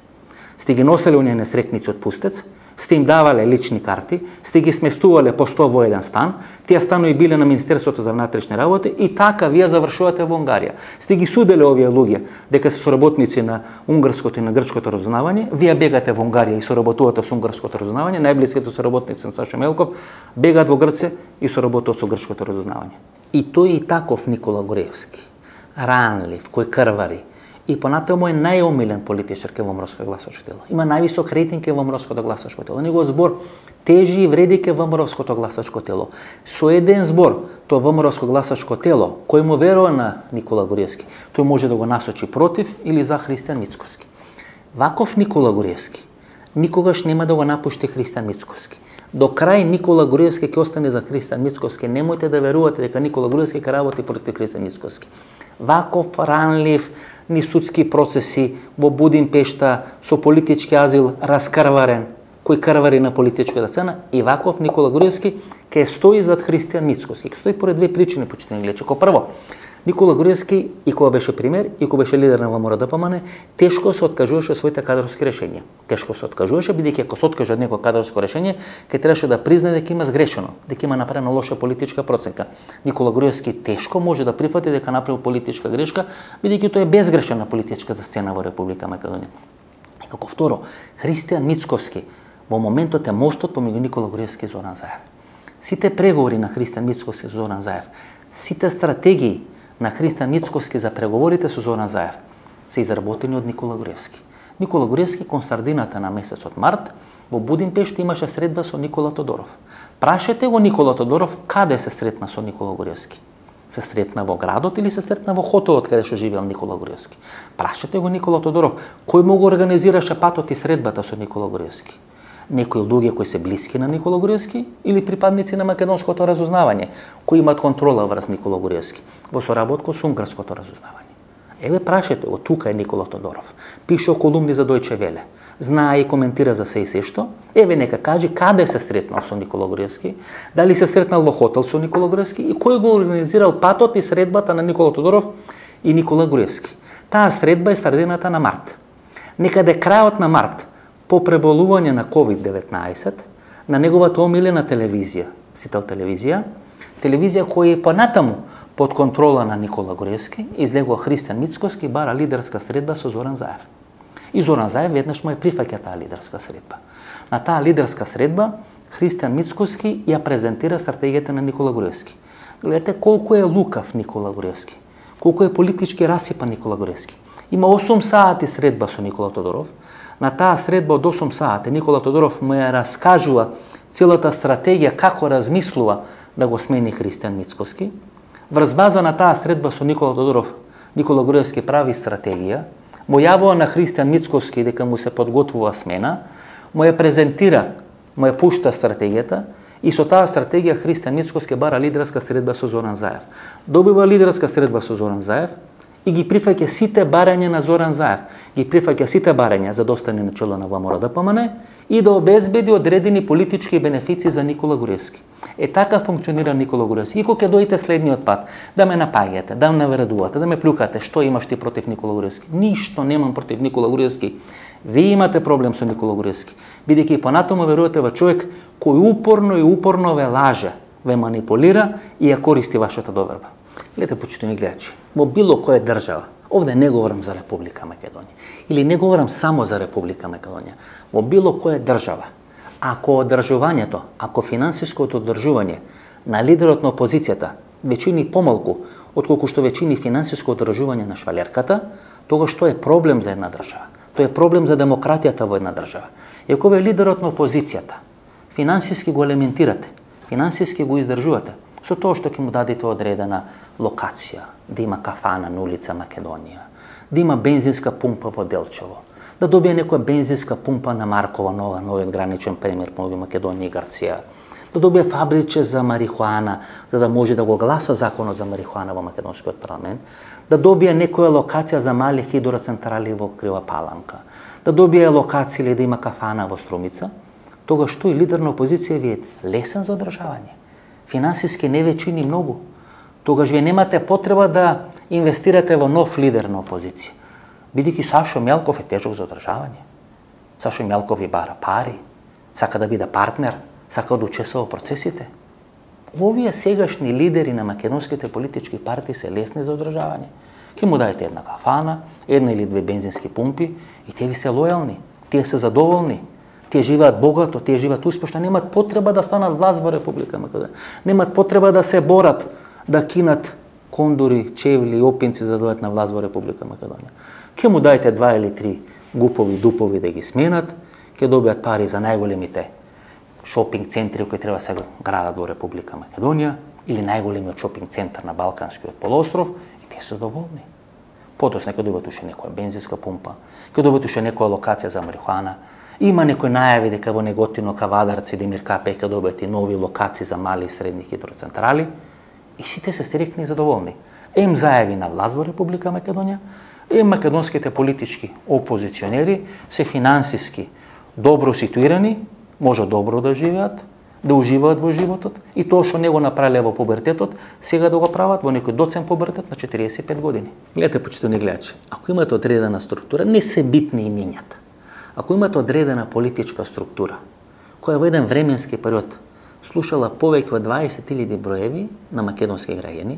Сте ги носеле оние несрекници од Пустец, сте им давале лични карти, сте ги сместувале по 100 во еден стан, тие станови биле на Министерството за внатрешни работи и така вие завршувате во Унгарија. Сте ги суделе овие луѓе дека се соработници на унгарското и на грчкото разузнавање, вие бегате во Унгарија и соработувате со унгарското разузнавање, најблиските соработници на Сашо Мелков бегаат во Грција и соработуваат со грчкото разузнавање. И тој и таков Никола Груевски, ранлив, кој крвари, и понатаму е најомилен политичар ке ВМРО гласачко тело. Има највисок рейтинг ке ВМРО гласачко тело. Неговиот збор тежи и вреди ке ВМРО гласачко тело. Со еден збор, тоа ВМРО гласачко тело, кој му верува на Никола Груевски, тој може да го насочи против или за Христијан Мицкоски. Ваков Никола Груевски никогаш нема да го напушти Христијан Мицкоски. До крај Никола Груевски ќе остане за Христијан Мицкоски. Немојте да верувате дека Никола Груевски ќе работи против Христијан Мицкоски. Ваков ранлив, ни судски процеси во Будимпешта со политички азил раскрварен, кој крвари на политичката сцена, и ваков Никола Груевски ќе стои зад Христијан Мицкоски. Ќе стои поред две причини, почитувани гледачи. Ко прво, Никола Груевски, и кога беше премиер, и кога беше лидер на ВМРО ДПМН, тешко се откажуваше своите кадрски решенија. Тешко се откажуваше, бидејќи ако се откаже од некој кадрско решение, ќе требаше да признае дека има сгрешено, дека има направена лоша политичка проценка. Никола Груевски тешко може да прифати дека направил политичка грешка, бидејќи тој е безгрешен на политичката сцена во Република Македонија. И како второ, Христијан Мицковски во моментот е мостот помеѓу Никола Груевски и Зоран Заев. Сите преговори на Христијан Мицковски и Зоран Заев, сите стратегии на Христијан Мицковски за преговорите со Зоран Заев се изработени од Никола Груевски. Никола Груевски кон средината на месецот март во Будимпешта имаше средба со Никола Тодоров. Прашете го Никола Тодоров каде се сретна со Никола Груевски. Се сретна во градот или се сретна во хотелот каде што живеел Никола Груевски. Прашете го Никола Тодоров кој му го организираше патот и средбата со Никола Груевски. Некои луѓе кои се блиски на Никола Груевски или припадници на македонското разузнавање, кои имаат контрола врз Никола Груевски, во соработка со унгарското разузнавање. Еве прашете го, тука е Никола Тодоров. Пише колумни за Дојче Веле. Знае и коментира за се и се што. Еве нека каже каде се сретнал со Никола Груевски, дали се сретнал во хотел со Никола Груевски и кој го организирал патот и средбата на Никола Тодоров и Никола Груевски. Таа средба е средината на март. Некаде крајот на март, по преболување на COVID-19, на неговата омилена телевизија, Сител телевизија, телевизија која е понатаму под контрола на Никола Груевски, из него Христијан Мицковски бара лидерска средба со Зоран Заев. И Зоран Заев веднаш му прифаќа таа лидерска средба. На таа лидерска средба Христијан Мицковски ја презентира стратегијата на Никола Груевски. Гледате колку е лукав Никола Груевски, колку е политички расипан Никола Груевски. Има 8 сати средба со Никола Тодоров. На таа средба од 8 сати Никола Тодоров му ја раскажува целата стратегија како размислува да го смени Христијан Мицковски. Врз база на таа средба со Никола Тодоров, Никола Груевски прави стратегија, му јавува на Христијан Мицковски дека му се подготвува смена, му ја презентира, му ја пушта стратегијата и со таа стратегија Христијан Мицковски бара лидерска средба со Зоран Заев. Добива лидерска средба со Зоран Заев и ги прифаќа сите барања на Зоран Заев, ги прифаќа сите барања за да остане на чело на ВМРО ДПМН и да обезбеди одредени политички бенефици за Никола Груевски. Е така функционира Никола Груевски. И кога ќе дојде следниот пат, да ме напаѓате, да ме навредувате, да ме плюкате, што имаш ти против Никола Груевски? Ништо немам против Никола Груевски. Вие имате проблем со Никола Груевски, бидејќи и понатаму верувате во човек кој упорно ве лаже, ве манипулира и ја користи вашата доверба. Гледате, почитувани гледачи, во било која држава, овде не говорам за Република Македонија, или не говорам само за Република Македонија, во било која држава, ако одржувањето, ако финансиското одржување на лидерот на опозицијата веќе помалку отколку што веќе финансиско одржување на швалерката, тогаш тоа е проблем за една држава. Тоа е проблем за демократијата во една држава. И ако ве лидерот на опозицијата финансиски го елементирате, финансиски го издржувате, со тоа што ќе му дадете одредена локација, да има кафана на улица Македонија, да има бензинска пумпа во Делчево, да добие некоја бензинска пумпа на Маркова нова, новиот граничен премир помеѓу Македонија и Грција, да добие фабриче за марихуана, за да може да го гласа законот за марихуана во македонскиот парламент, да добие некоја локација за мали хидроцентрали во Крива Паланка, да добие локација или да има кафана во Струмица, тогаш тој лидер на опозиција ви е лесен за одржавање. Финансиски не ве чини многу. Тогаш вие немате потреба да инвестирате во нов лидер на опозиција. Бидејќи Сашо Мјалков е тежок за одржавање. Сашо Мјалков ви бара пари, сака да биде партнер, сака да учесува во процесите. Овие сегашни лидери на македонските политички партии се лесни за одржавање. Ке му дајте една кафана, една или две бензински пумпи и те ви се лојални, тие се задоволни. Тие живеат богато, тие живеат успешно, немаат потреба да станат власт во Република Македонија. Немаат потреба да се борат, да кинат кондури, чевли и опинци за да дојдат на власт во Република Македонија. Ке му дајте 2 или 3 гупови дупови да ги сменат, ке добијат пари за најголемите шопинг центри кои треба се градат во Република Македонија или најголемиот шопинг центар на Балканскиот полуостров и тие се задоволни. Подоцна ќе добијат уште некоја бензинска пумпа, ќе добијат уште некоја локација за марихуана. Има некои најави дека во Неготино, Кавадарци, Демир Капе ќе добијат и нови локации за мали и средни хидроцентрали и сите се стрикни и задоволни. Ем зајави на власт во Република Македонија, ем македонските политички опозиционери се финансиски добро ситуирани, може добро да живеат, да уживаат во животот и тоа што не го направиле во пубертетот, сега да го прават во некој доцен пубертет на 45 години. Гледате, почитувани гледачи, ако имате одредена структура, не се битни имињата. Ако имате одредена политичка структура, која во еден временски период слушала повеќе од 20.000 броеви на македонски граѓани,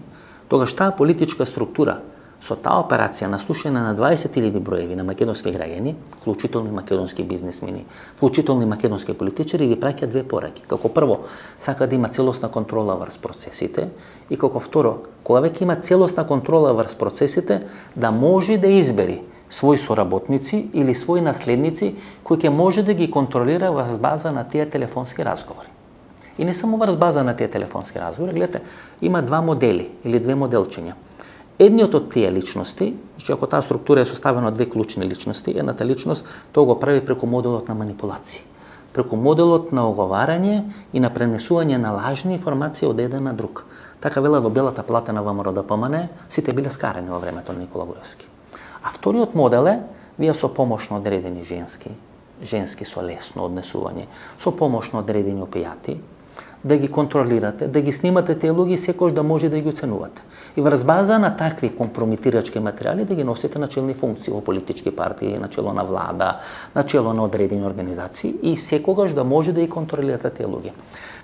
тогаш таа политичка структура со таа операција на слушање на 20.000 броеви на македонски граѓани, вклучително и македонски бизнисмени, вклучително и македонски политичари, ви праќа две пораки. Како прво, сака да има целосна контрола врз процесите и како второ, кога веќе има целосна контрола врз процесите, да може да избери своји соработници или своји наследници кои ќе може да ги контролира врз база на тие телефонски разговори. И не само врз база на тие телефонски разговори, гледате, има два модели или две моделчиња. Едниот од тие личности, значи ако таа структура е составена од две клучни личности, едната личност тоа го прави преку моделот на манипулација, преку моделот на оговарање и на пренесување на лажни информации од еден на друг. Така велат во Белата плата на ВМРО ДПМН, сите биле скарени во времето на Никола Груевски. А вториот модел е, вие со помош на одредени женски со лесно однесување, со помош на одредени опијати, да ги контролирате, да ги снимате тие луѓе секој да може да ги оценувате. И врз база на такви компромитирачки материјали да ги носите на челни функции во политички партии, на чело на влада, на чело на одредени организации и секогаш да може да ги контролирате тие луѓе.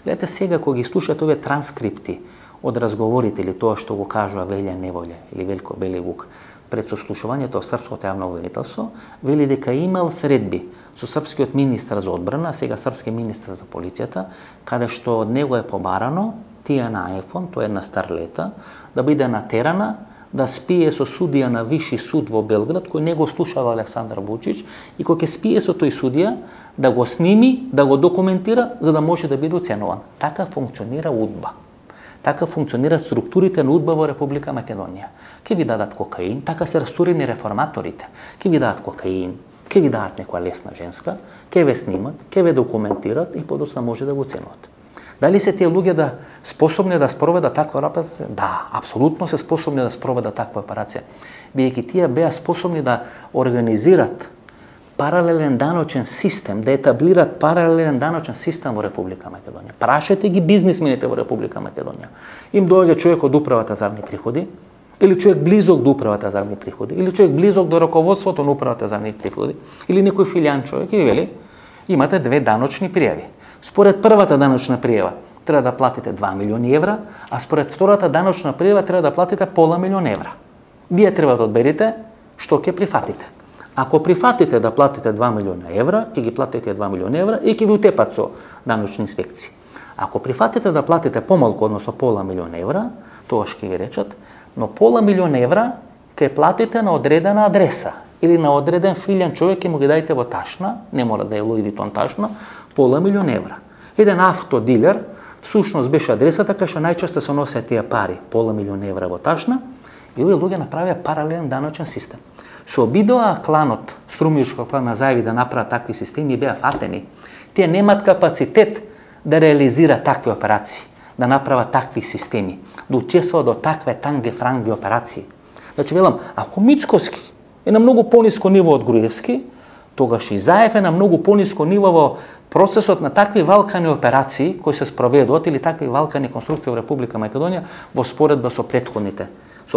Гледате сега кога ги слушате овие транскрипти од разговорите или тоа што го кажува Велја Неволја или Велко Беливук пред сослушувањето во Српското јавно обвинителство, вели дека имал средби со српскиот министар за одбрана, а сега српски министар за полицијата, каде што од него е побарано Тијана Ефон, тоа е една старлета, да биде натерана да спие со судија на Виши суд во Белград, кој не го слушал Александар Вучич, и кој ќе спие со тој судија, да го сними, да го документира, за да може да биде оценуван. Така функционира УДБА. Така функционираат структурите на УДБА во Република Македонија. Ке ви дадат кокаин, така се растурени реформаторите. Ке ви дадат кокаин, ке ви дадат некоја лесна женска, ке ве снимат, ке ве документират и подоцна може да го оценуват. Дали се тие луѓе да способни да спроведат таква операција? Да, апсолутно се способни да спроведат таква операција. Бидејќи тие беа способни да организират паралелен даночен систем, да етаблират паралелен даночен систем во Република Македонија. Прашете ги бизнисмените во Република Македонија. Им доаѓа човек од управата за јавни приходи, или човек близок до управата за јавни приходи, или човек близок до раководството на управата за јавни приходи, или некој филијан човек и вели, имате две даночни пријави. Според првата даночна пријава треба да платите 2 милиони евра, а според втората даночна пријава треба да платите пола милион евра. Вие треба да одберете што ќе прифатите. Ако прифатите да платите 2 милиона евра, ќе ги платите 2 милиони евра и ќе ви утепат со даночни инспекции. Ако прифатите да платите помалку, односно пола милион евра, тогаш ќе ви речат, но пола милион евра ќе платите на одредена адреса или на одреден филијан човек ќе му ги дајте во ташна, не мора да е Луи Витон ташна, пола милион евра. Еден автодилер всушност беше адресата кај што најчесто се носеа тие пари, пола милион евра во ташна, и овие луѓе направија паралелен даночен систем. Со обидоа кланот, струмиричкиот клан на Заеви да направат такви системи и беа фатени. Тие немаат капацитет да реализираат такви операции, да направат такви системи, да учествуваат до такве танге-франги операции. Значи, велам, ако Мицкоски е на многу пониско ниво од Груевски, тогаш и Заев е на многу пониско ниво во процесот на такви валкани операции кои се спроведуваат или такви валкани конструкции во Република Македонија во споредба со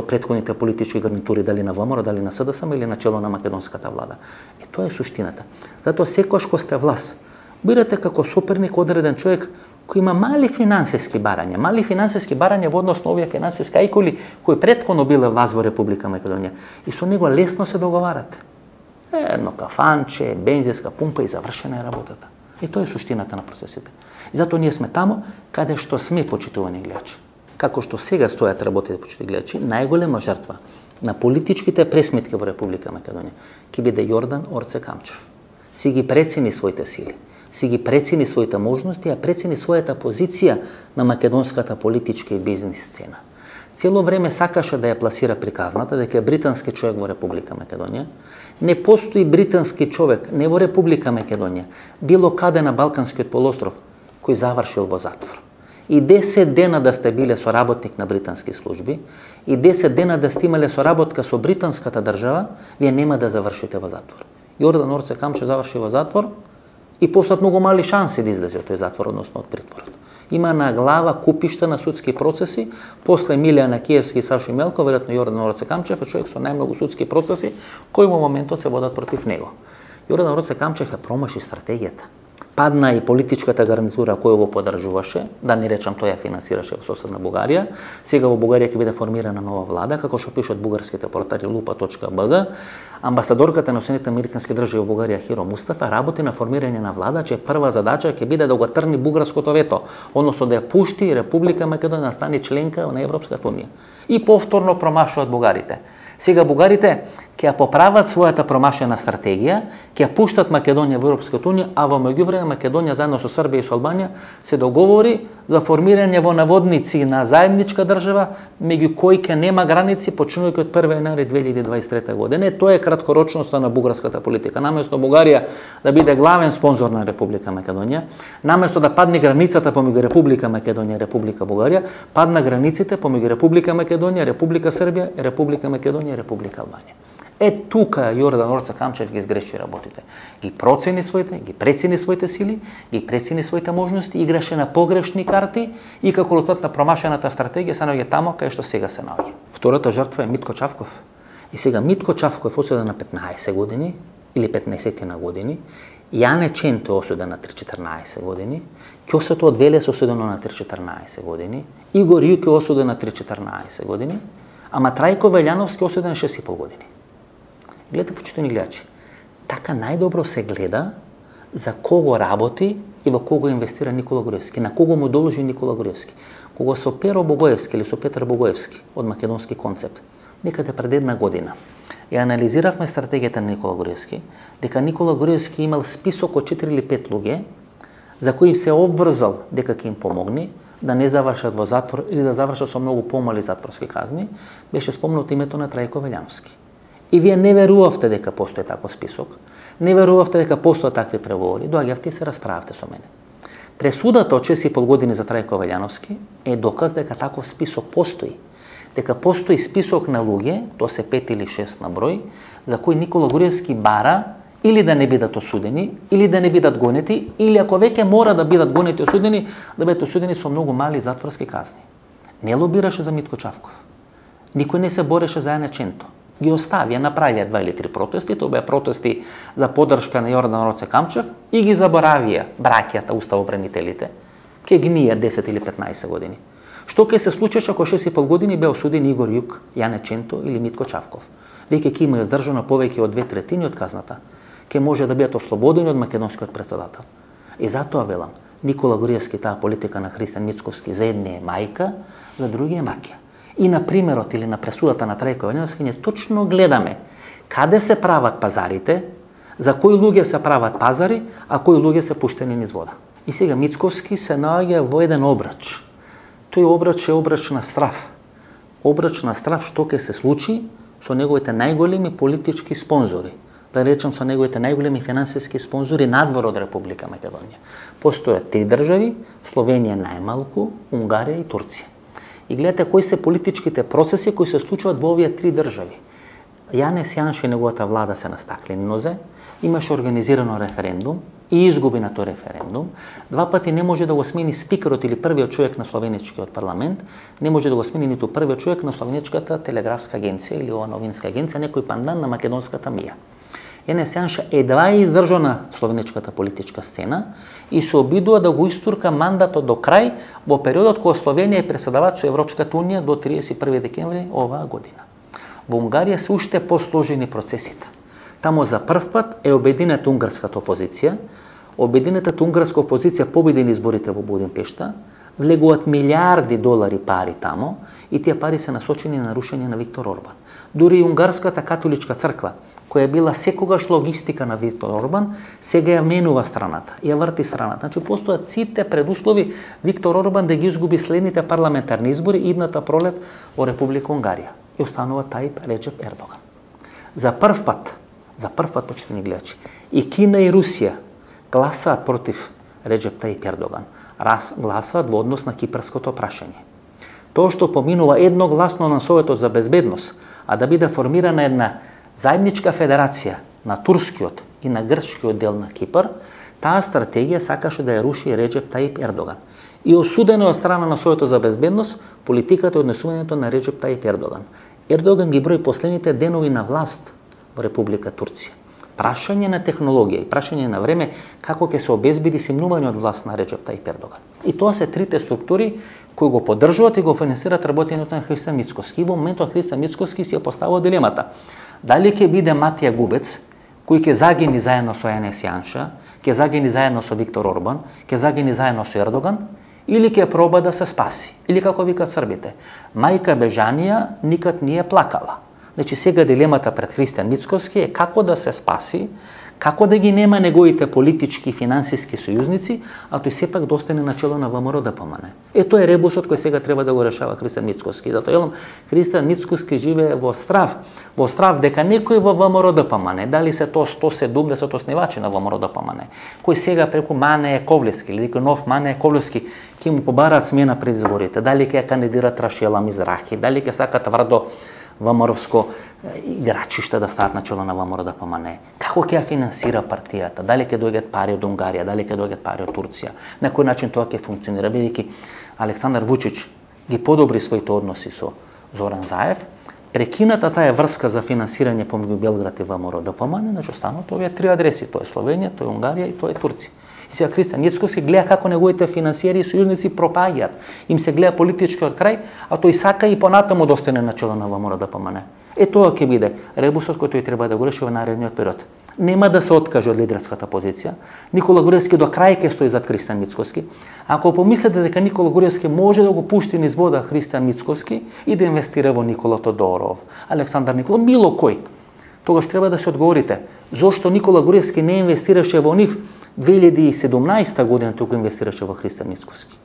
претходните политички гарнитури, дали на ВМРО, дали на СДСМ или на чело на македонската влада. И тоа е суштината. Затоа секогаш кога сте власт, бирате како соперник одреден човек кој има мали финансиски барања во однос на овие финансиски ајкули кои претходно биле власт во Република Македонија. И со него лесно се договарате. Едно кафанче, бензинска пумпа и завршена е работата. И тоа е суштината на процесите. И затоа ние сме таму каде што сме, почитувани гледачи. Како што сега стојат работите, почитувани гледачи, најголема жртва на политичките пресметки во Република Македонија ќе биде Јордан Орце Камчев. Си ги прецени своите сили, си ги прецени своите можности, а прецени својата позиција на македонската политичка и бизнис сцена. Цело време сакаше да ја пласира приказната дека е британски човек во Република Македонија. Не постои британски човек, не во Република Македонија, било каде на Балканскиот полуостров, кој завршил во затвор. И 10 дена да сте биле соработник на британски служби, и 10 дена да сте имале соработка со британската држава, вие нема да завршите во затвор. Јордан Орце Камчев заврши во затвор, и постојат многу мали шанси да излезе од тој затвор, односно од притворот. Има на глава купишта на судски процеси, после Милијана Киевски и Сашо Мелко, веројатно Јордан Ороце Камчев е човек со најмногу судски процеси кои во моментот се водат против него. Јордан Ороце Камчев промаши стратегијата. Падна и политичката гарнитура која го поддржуваше, да не речам тој ја финансираше во соседна Бугарија. Сега во Бугарија ќе биде формирана нова влада, како што пишат бугарските портали lupa.bg. Амбасадорката на Соединетите американски држави во Бугарија Хиро Мустафа работи на формирање на влада, чија прва задача ќе биде да го трни бугарското вето, односно да ја пушти Република Македонија да стане членка на Европската унија. И повторно промашуваат бугарите. Сега бугарите ќе ја поправат својата промашена стратегија, ќе ја пуштат Македонија во Европската унија, а во меѓувреме Македонија заедно со Србија и со Албанија се договори за формирање во наводници на заедничка држава, меѓу кои ќе нема граници почнувајќи од 1 јануари 2023 година. Тоа е краткорочноста на бугарската политика. Наместо Бугарија да биде главен спонзор на Република Македонија, наместо да падне границата помеѓу Република Македонија и Република Бугарија, падна границите помеѓу Република Македонија, Република Србија, Република Македонија и Република Албанија. Тука Јордан Ороце Камчев ги сгреши работите. Ги прецени своите сили, ги прецени своите можности, играше на погрешни карти и како резултат на промашената стратегија се наоѓа тамо кај што сега се наоѓа. Втората жртва е Митко Чавков. И сега Митко Чавков е осуден на 15 години или 15 на години. Јане Ченто е осуден на 3-14 години. Ќосето од Велес е осудено на 3-14 години. Игор Јук е осуден на 3-14 години. Ама Трајко Велјановски е осуден на 6,5 години. Гледате, почитувани гледачи, така најдобро се гледа за кого работи и во кого инвестира Никола Груевски, на кого му должи Никола Груевски. Кога со Перо Богоевски или со Петар Богоевски од македонски концепт, некаде пред 1 година, ја анализиравме стратегијата на Никола Груевски, дека Никола Груевски имал список од 4 или 5 луѓе за кои се обврзал дека ќе им помогне да не завршат во затвор или да завршат со многу помали затворски казни, беше спомнато името на Трајко Велјановски. И вие не верувавте дека постои таков список, не верувавте дека постојат такви преговори, доаѓавте и се расправавте со мене. Пресудата од 6,5 години за Трајко Велјановски е доказ дека таков список постои. Дека постои список на луѓе, тоа се 5 или 6 на број, за кои Никола Груевски бара или да не бидат осудени, или да не бидат гонети, или ако веќе мора да бидат гонети и осудени, да бидат осудени со многу мали затворски казни. Не лобираше за Митко Чавков. Никој не се бореше за Јане Ченто. Ги оставија, направија 2 или 3 протести, тоа беа протести за поддршка на Јордан Ороце Камчев и ги заборавија браќата, уставобранителите, ке гнија 10 или 15 години. Што ќе се случеше ако 6,5 години беа осудени Игор Јук, Јане Ченто или Митко Чавков? Веќе ќе има издржано повеќе од 2/3 од казната. Ке може да бидат ослободени од македонскиот председател. И затоа велам, Никола Груевски, таа политика на Христијан Мицковски, за едни е мајка, за други е маќа. И на примерот или на пресудата на Трајко Велјановски ние точно гледаме каде се прават пазарите, за кои луѓе се прават пазари, а кои луѓе се пуштени низ вода. И сега Мицковски се наоѓа во еден обрач. Тој обрач е обрач на страв. Обрач на страв што ќе се случи со неговите најголеми политички спонзори. Да речам со неговите најголеми финансиски спонзори надвор од Република Македонија. Постојат 3 држави, Словенија најмалку, Унгарија и Турција. И гледате кои се политичките процеси кои се случуваат во овие 3 држави. Јанес Јанше и неговата влада се на стаклени нозе, имаше организирано референдум и изгуби на тој референдум. 2 пати не може да го смени спикерот или првиот човек на словеничкиот парламент, не може да го смени ниту првиот човек на словеничката телеграфска агенција или ова новинска агенција, некој пандан на македонската МИА. Јанес Јанше едва издржа на словеничката политичка сцена и се обидува да го истурка мандатот до крај во периодот кога Словенија е преседавач со Европската унија до 31 декември оваа година. Во Унгарија се уште посложени процесите. Тамо за прв пат е обединета унгарската опозиција. Обединетата унгарска опозиција победи на изборите во Будимпешта, влегуваат милиарди долари пари тамо и тие пари се насочени на рушење на Виктор Орбан. Дури и унгарската католичка црква, која била секогаш логистика на Виктор Орбан, сега ја менува страната, ја врти страната. Значи постојат сите предуслови Виктор Орбан да ги изгуби следните парламентарни избори идната пролет во Република Унгарија. И останува Тајип Реджеп Ердоган. За прв пат, почитувани гледачи, и Кина и Русија гласаат против Реджеп Тајип Ердоган. Гласаат во однос на кипарското прашање. Тоа што поминува едногласно на Советот за безбедност, а да биде формирана една заедничка федерација на турскиот и на грчкиот дел на Кипар, Таа стратегија сакаше да ја руши Реджеп Таип Ердоган. И осудено од страна на Советот за безбедност политиката и однесувањето на Реджеп Таип Ердоган. Ердоган ги брои последните денови на власт во Република Турција. Прашање на технологија и прашање на време како ќе се обезбеди симнување од власт на Реджеп Таип Ердоган. И тоа се трите структури кои го поддржуваат и го финансираат работењето на Христијан Мицкоски. И во моментот Христијан Мицкоски си ја поставува дилемата. Дали ќе биде Матија Губец, кој ќе загини заедно со Енес Јанша, ќе загини заедно со Виктор Орбан, ќе загини заедно со Ердоган, или ќе проба да се спаси. Или како викат србите, мајка Бежанија никад не е плакала. Значи сега дилемата пред Христијан Мицкоски е како да се спаси, како да ги нема неговите политички и финансиски сојузници, а тој сепак да остане начело на ВМРО ДПМН. Тоа е ребусот кој сега треба да го решава Христијан Мицкоски. Затоа елам Христијан Мицкоски живее во страв дека некој во ВМРО ДПМН, дали се тоа 170 основачи на ВМРО ДПМН, кој сега преку Мане Ковлевски или некој нов Мане Ковлевски ќе му побараат смена пред изборите, дали ќе ја кандидират Рашела Мизрахи, дали ќе сакат тврдо ВМРО-вско играчиште да стават начело на ВМРО ДПМН. Како ќе ја финансира партијата? Дали ќе доаѓаат пари од Унгарија, дали ќе доаѓаат пари од Турција? На кој начин тоа ќе функционира? Бидејќи Александар Вучич ги подобри своите односи со Зоран Заев, прекината таа врска за финансирање помеѓу Белград и ВМРО ДПМН, значи останат овие три адреси, тоа е Словенија, тоа е Унгарија и тоа е Турција. И сега Христијан Мицкоски гледа како неговите финансиери и сојузници пропаѓаат. Им се гледа политичкиот крај, а тој сака и понатаму да остане начело на ВМРО ДПМН. Тоа ќе биде ребусот кој тој треба да го реши во наредниот период. Нема да се откаже од лидерската позиција. Никола Груевски до крај ќе стои зад Христијан Мицкоски. Ако помислите дека Никола Груевски може да го пушти низ вода Христијан Мицкоски и да инвестира во Никола Тодоров, Александар Николов, било кој, тогаш треба да се одговорите зошто Никола Груевски не инвестираше во нив 2017 година туку инвестираше во Христијан Мицкоски.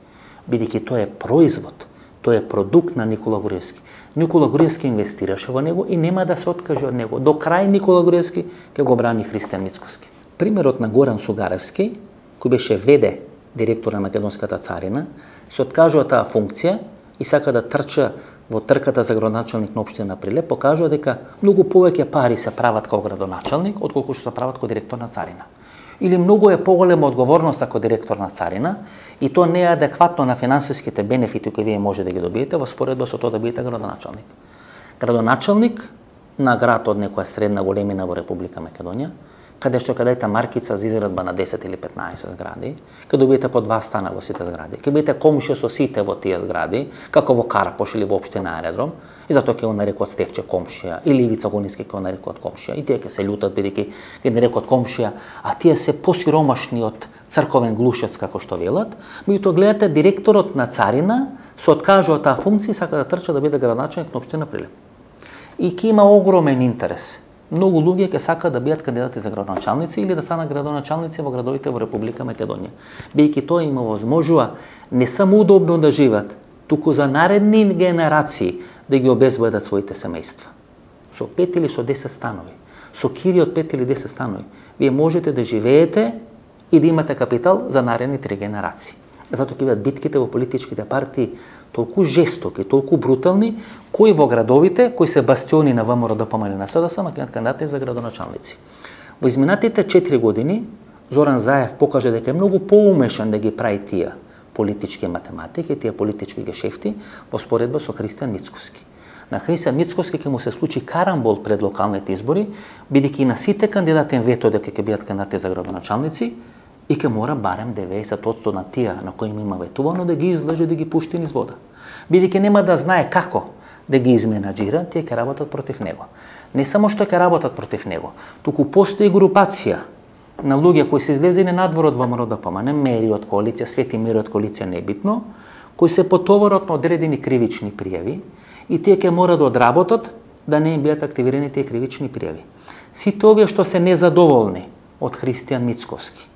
Бидејќи тоа е производ, тоа е продукт на Никола Груевски. Никола Груевски инвестираше во него и нема да се откаже од него. До крај Никола Груевски ќе го брани Христијан Мицкоски. Примерот на Горан Сугаревски, кој беше ВД директор на македонската царина, се откажува таа функција и сака да трча во трката за градоначалник на општина Прилеп, покажува дека многу повеќе пари се прават како градоначалник отколку што се прават како директор на царина. Или многу е поголема одговорност како директор на царина и тоа не е адекватно на финансиските бенефити кои вие може да ги добиете во споредба со тоа да бидете градоначалник. Градоначалник на град од некоја средна големина во Република Македонија, каде дадете маркица за изградба на 10 или 15 згради, каде добиете по 2 стана во сите згради, ќе бидете комшија со сите во тие згради, како во Карпош или во општина Аеродром, и затоа ќе го нарекот Стефче комшија, или Ивица Гониски ќе го нарекот комшија, и тие ќе се љутат бидејќи ќе нарекот комшија, а тие се посиромашни од црковен глушец како што велат, меѓутоа гледате директорот на царина се откажува таа функција и сака да трча да биде градоначалник на општина Прилеп. И ќе има огромен интерес. Многу луѓе ќе сакаат да бидат кандидати за градоначалници или да станат градоначалници во градовите во Република Македонија. Бидејќи тоа им овозможува не само удобно да живеат, туку за наредни генерации да ги обезбедат своите семејства. Со 5 или со 10 станови, со кири од 5 или 10 станови, вие можете да живеете и да имате капитал за наредни 3 генерации. Затоа ќе бидат битките во политичките партии толку жестоки, толку брутални, кои во градовите, кои се бастиони на ВМРО ДПМН на СДС, ма ќе кандидати за градоначалници. Во изминатите 4 години Зоран Заев покажа дека е многу поумешан да ги прави тие политички математики, тие политички гешефти во споредба со Христијан Мицкоски. На Христијан Мицкоски ќе му се случи карамбол пред локалните избори, бидејќи на сите кандидати вето дека ќе бидат кандидати за градоначалници и ќе мора барем 90% на тие на кои им има ветувано да ги излаже, да ги пушти низ вода. Бидејќи нема да знае како да ги изменаџира, тие ќе работат против него. Не само што ќе работат против него, туку постои групација на луѓе кои се излезени надвор од ВМРО ДПМН, мери од коалиција, Свети мери од коалиција небитно, кои се потоварат на одредени кривични пријави и тие ќе мора да одработат да не им бидат активирани тие кривични пријави. Сите овие што се незадоволни од Христијан Мицкоски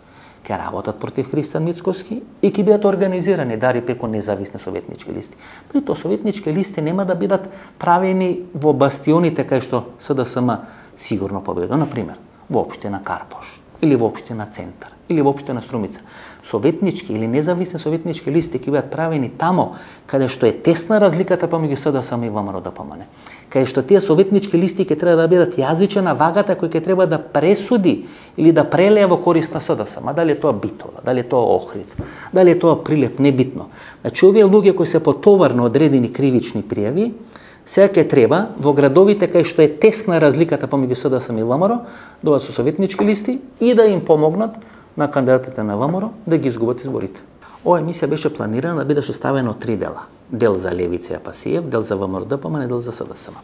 ќе работат против Христијан Мицкоски и ќе бидат организирани дари преку независни советнички листи. При тоа советнички листи нема да бидат правени во бастионите кај што СДСМ сигурно победува, на пример, во општина Карпош, или во општина Центар, или во општина Струмица, советнички или независни советнички листи ќе бидат правени тамо каде што е тесна разликата помеѓу СДСМ и ВМРО-ДПМН. Каде што тие советнички листи ќе треба да бидат јазиче на вагата кој ќе треба да пресуди или да прелеја во корист на СДСМ. Дали е тоа Битола, дали е тоа Охрид, дали е тоа Прилеп, небитно. Значи овие луѓе кои се потоварно одредени кривични пријави, сега ќе треба во градовите кај што е тесна разликата помеѓу СДСМ и ВМРО, доаѓаат со советнички листи и да им помогнат на кандидатите на ВМРО да ги изгубат изборите. Ова емисија беше планирана да биде составена од 3 дела. Дел за Левица и Апасиев, дел за ВМРО-ДПМН и дел за СДСМ.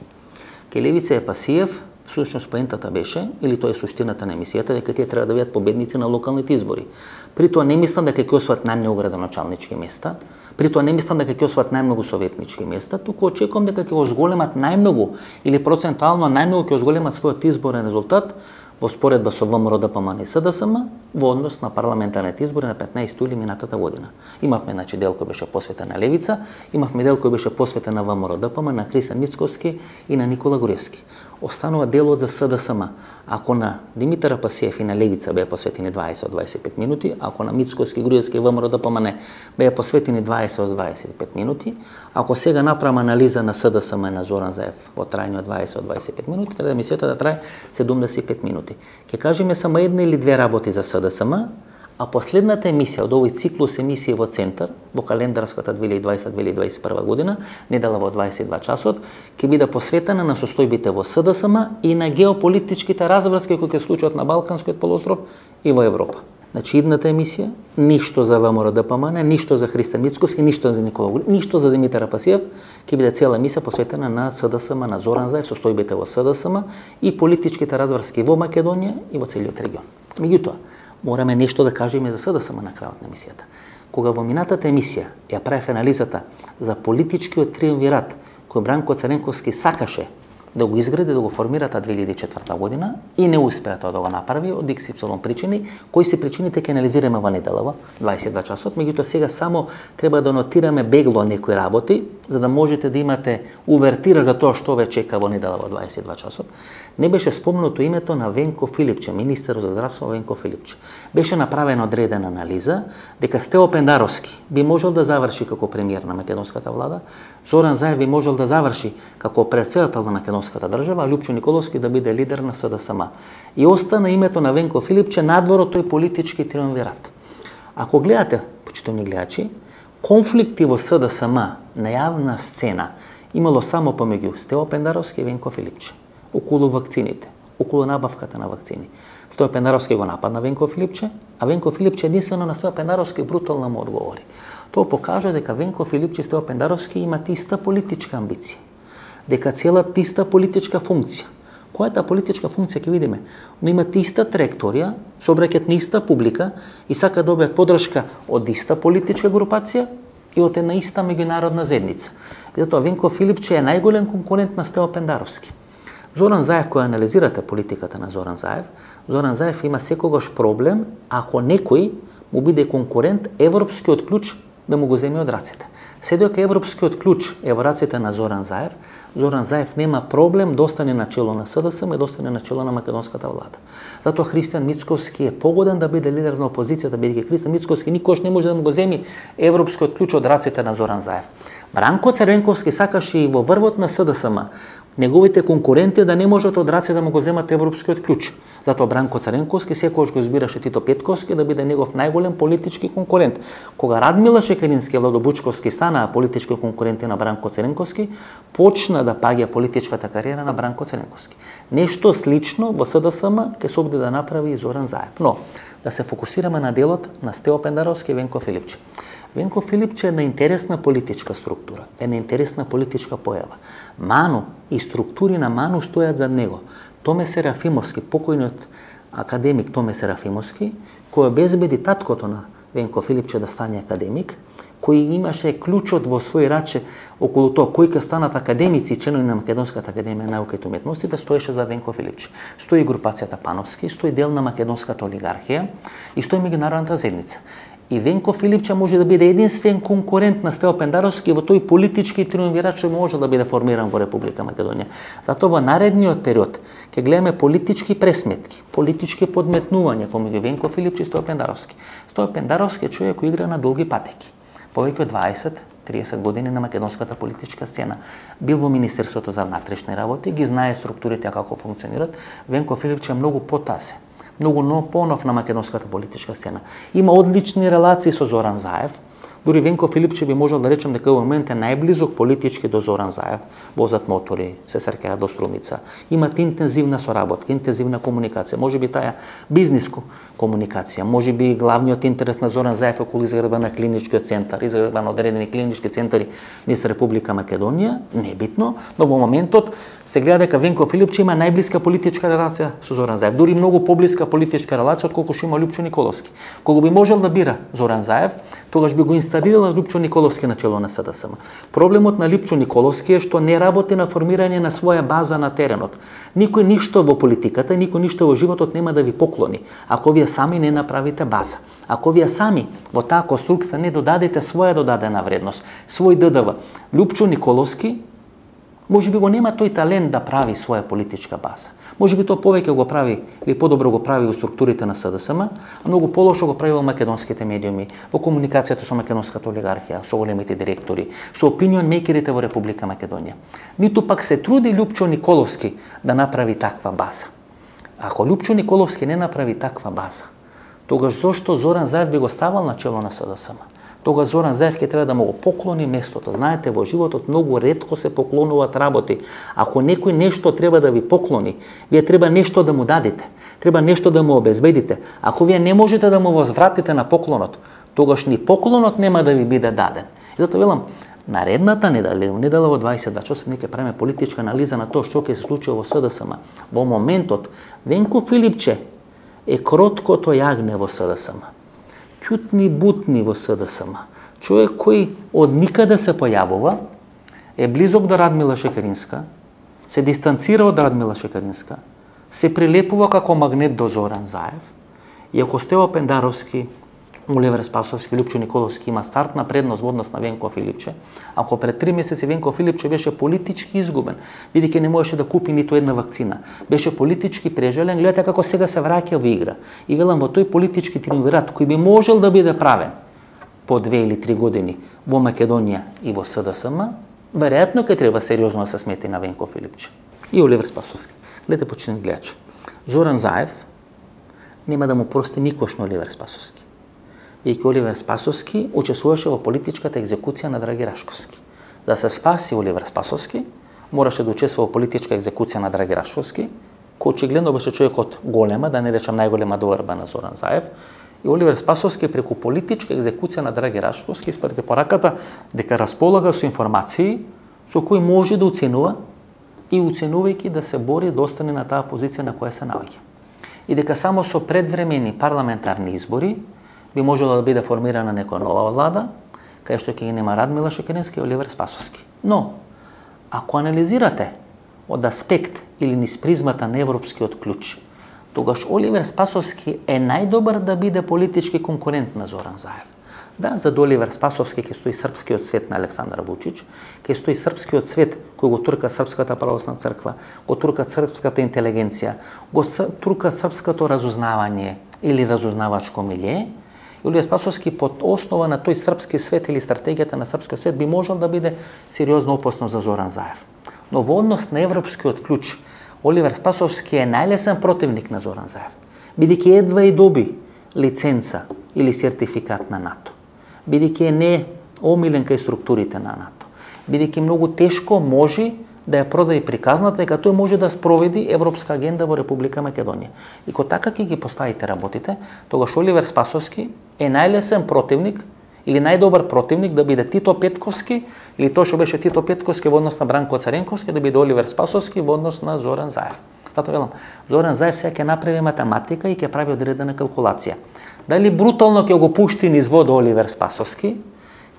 Ке Левица и Апасиев, всушност поентата беше, или тоа е суштината на емисијата, дека тие треба да бидат победници на локалните избори. При тоа не мислам дека ќе освојат најмногу градоначалнички места, при тоа не мислам дека ќе освојат најмногу советнички места, туку очекувам дека ќе го зголемат најмногу или процентуално најмногу ќе го зголемат својот изборен резултат во споредба со ВМРО-ДПМН и СДСМ во однос на парламентарните избори на 15 јули минатата година. Имавме дел кој беше посветен на Левица, имавме дел кој беше посветен на ВМРО-ДПМН, на Христијан Мицковски и на Никола Груевски. Останува делот за СДСМ. Ако на Димитар Апасиев и на Левица беа посветени 20 од 25 минути, ако на Мицковски, Груевски и ВМРО-ДПМН беа посветени 20 од 25 минути, ако сега направам анализа на СДСМ и на Зоран Заев во трајање од 20 од 25 минути, треба емисијата да трае 75 минути. Ке кажеме само една или две работи за СДСМ, а последната емисија од овој циклус емисии во Центар, во календарската 2020-2021 година, недела во 22 часот, ќе биде посветена на состојбите во СДСМ и на геополитичките разврски кои ќе случат на Балканскиот полуостров и во Европа. Значи, идната емисија, ништо за ВМРО-ДПМН, ништо за Христијан Мицковски, ништо за Никола Груевски, ништо за Димитар Апасиев, ќе биде цела емисија посветена на СДСМ, на Зоран Заев, состојбите во СДСМ и политичките разврски во Македонија и во целиот регион. Меѓутоа, мораме нешто да кажеме за СДСМ на крајот на емисијата. Кога во минатата емисија ја правев анализата за политичкиот триумвират кој Бранко Цренковски сакаше да го изгради, да го формира та 2004 година и не успеа тоа да го направи од XY причини. Кои се причините ќе анализираме во неделава, 22 часот, меѓутоа сега само треба да нотираме бегло некои работи, за да можете да имате увертира за тоа што ве чека во неделава 22 часот. Не беше спомнато името на Венко Филипче, министер за здравство Венко Филипче. Беше направена одредена анализа дека Стео Пендаровски би можел да заврши како премиер на македонската влада, Зоран Заев би можел да заврши како претседател на македонската држава, а Лјупчо Николовски да биде лидер на СДСМ. И остана името на Венко Филипче надвор од тој политички триумвират. Ако гледате, почитувани гледачи, конфликти во СДСМ на јавна сцена имало само помеѓу Стео Пендаровски и Венко Филипче. Околу вакцините, околу набавката на вакцини. Стео Пендаровски го нападна Венко Филипче, а Венко Филипче единствено на Стео Пендаровски брутално му одговори. Тоа покажа дека Венко Филипче и Стео Пендаровски имаат иста политичка амбиција, дека целат иста политичка функција. Која е таа политичка функција ќе видиме, но имаат иста траекторија, се обраќаат на иста публика и сакаат да добијат поддршка од иста политичка групација и од една иста меѓународна заедница. И затоа Венко Филипче е најголем конкурент на Стео Пендаровски. Зоран Заев, кој анализирате политиката на Зоран Заев има секогаш проблем ако некој му биде конкурент европскиот клуч да му го земе од рацете. Се дека европскиот клуч е во рацете на Зоран Заев нема проблем да остане на чело на СДСМ и да остане на чело на македонската влада. Затоа Христијан Мицковски е погоден да биде лидер на опозицијата, бидејќи Христијан Мицковски никош не може да му го земи европскиот клуч од рацете на Зоран Заев. Бранко Цренковски сакаше и во врвот на СДСМ неговите конкуренти да не можат од раце да му го земат европскиот клуч. Затоа Бранко Цренковски секогаш го избираше Тито Петковски да биде негов најголем политички конкурент. Кога Радмила Шекерински и Владо Бучковски станаа политички конкуренти на Бранко Цренковски, почна да паѓа политичката кариера на Бранко Цренковски. Нешто слично во СДСМ ќе се обиде да направи и Зоран Заев. Но да се фокусираме на делот на Стео Пендаровски и Венко Филипче. Венко Филипче е една интересна политичка структура, една интересна политичка појава. Ману и структури на Ману стојат за него. Томе Серафимовски, покојниот академик Томе Серафимовски, кој обезбеди таткото на Венко Филипче да стане академик, кој имаше клучот во свој раче околу тоа кои ќе станат академици и членови на Македонската академија на науките и уметностите, стоеше за Венко Филипче. Стои групацијата Пановски, стои дел на македонската олигархија и стои меѓународната заедница. И Венко Филипче може да биде единствен конкурент на Стево Пендаровски во тој политички триумвират што може да биде формиран во Република Македонија. Затоа во наредниот период ќе гледаме политички пресметки, политички подметнувања помеѓу Венко Филипче и Стево Пендаровски. Стево Пендаровски е човек кој игра на долги патеки. Повеќе од 20-30 години на македонската политичка сцена. Бил во Министерството за внатрешни работи, ги знае структурите како функционират. Венко Филипче е многу потасен, многу понов на македонската политичка сцена. Има одлични релации со Зоран Заев. Дури Венко Филипче би можел да речем дека во момент е најблизок политички до Зоран Заев. Возат мотори, се сркаат до Струмица. Имат интензивна соработка, интензивна комуникација. Може би таа бизнис комуникација, може би главниот интерес на Зоран Заев околу изградба на клиничкиот центар, изградба на одредени клинички центари низ Република Македонија, не е битно, но во моментот се гледа дека Венко Филипче има најблиска политичка релација со Зоран Заев, дури многу поблиска политичка релација отколку што има Лјупчо Николовски. Кога би можел да бира Зоран Заев, тогаш би го инсталирала Лјупчо Николовски на чело на СДСМ. Проблемот на Лјупчо Николовски е што не работи на формирање на своја база на теренот. Никој ништо во политиката, никој ништо во животот нема да ви поклони ако вие сами не направите база. Ако вие сами во таа конструкција не додадете своја додадена вредност, свој ДДВ. Лјупчо Николовски може би го нема тој талент да прави своја политичка база. Може би тоа повеќе го прави или подобро го прави во структурите на СДСМ, а многу полошо го прави во македонските медиуми, во комуникацијата со македонската олигархија, со големите директори, со опинион мейкерите во Република Македонија. Ниту пак се труди Лјупчо Николовски да направи таква база. Ако Лјупчо Николовски не направи таква база, тогаш зошто Зоран Заев би го ставал на чело на СДСМ? Тогаш Зоран Заев ќе треба да му го поклони местото. Знаете, во животот многу ретко се поклонуваат работи. Ако некој нешто треба да ви поклони, вие треба нешто да му дадете. Треба нешто да му обезбедите. Ако вие не можете да му возвратите на поклонот, тогаш ни поклонот нема да ви биде даден. И затоа велам, наредната недела во 22 часа ќе правиме политичка анализа на тоа што ќе се случи во СДСМ. Во моментот Венко Филипче е кроткото јагне во СДСМ. Ќутни бутни во СДСМ. Човек кој од никаде се појавува, е близок до Радмила Шекеринска, се дистанцира од Радмила Шекеринска, се прилепува како магнет до Зоран Заев, и ако Стево Пендаровски, Оливер Спасовски, Лјупчо Николовски има стартна предност во однос на Венко Филипче, ако пред 3 месеци Венко Филипче беше политички изгубен, бидејќи не можеше да купи ниту една вакцина, беше политички прежален, гледате како сега се враќа во игра. И велам, во тој политички триумвират кој би можел да биде правен по 2 или 3 години во Македонија и во СДСМ, веројатно ќе треба сериозно да се смети на Венко Филипче и Оливер Спасовски. Гледате, почнем гледачи. Зоран Заев нема да му прости никош на Оливер Спасовски. И Оливер Спасовски учествуваше во политичката екзекуција на Драги Рашковски. За да се спаси Оливер Спасовски, мораше да учествува во политичка екзекуција на Драги Рашковски, кој очигледно беше човекот голема, да не речам најголема доверба на Зоран Заев, и Оливер Спасовски преку политичка екзекуција на Драги Рашковски испрати пораката дека располага со информации со кои може да оценува и оценувајќи да се бори да остане на таа позиција на која се наоѓа. И дека само со предвремени парламентарни избори би можела да биде формирана некоја нова влада, кај што ќе ги нема Радмила Шекерински и Оливер Спасовски. Но, ако анализирате од аспект или низ призмата на европскиот клуч, тогаш Оливер Спасовски е најдобар да биде политички конкурент на Зоран Заев. Да, за Оливер Спасовски ќе стои српскиот цвет на Александар Вучич, ќе стои српскиот цвет кој го турка Српската православна црква, го турка српската интелигенција, го турка српското разузнавање или разузнавачко милје. Оливер Спасовски под основа на тој српски свет или стратегијата на српскиот свет би можел да биде сериозно опасно за Зоран Заев. Но во однос на европскиот клуч, Оливер Спасовски е најлесен противник на Зоран Заев, бидејќи едва и доби лиценца или сертификат на НАТО, бидејќи е не омилен кај структурите на НАТО, бидејќи многу тешко може да ја продаде приказната дека тој може да спроведи европска агенда во Република Македонија. И кога така ќе ги поставите работите, тогаш Оливер Спасовски е најлесен противник или најдобар противник да биде Тито Петковски или тоа што беше Тито Петковски во однос на Бранко Царенковски да биде Оливер Спасовски во однос на Зоран Заев. Затоа велам, Зоран Заев сега ќе направи математика и ќе прави одредена калкулација. Дали брутално ќе го пушти низ вода Оливер Спасовски,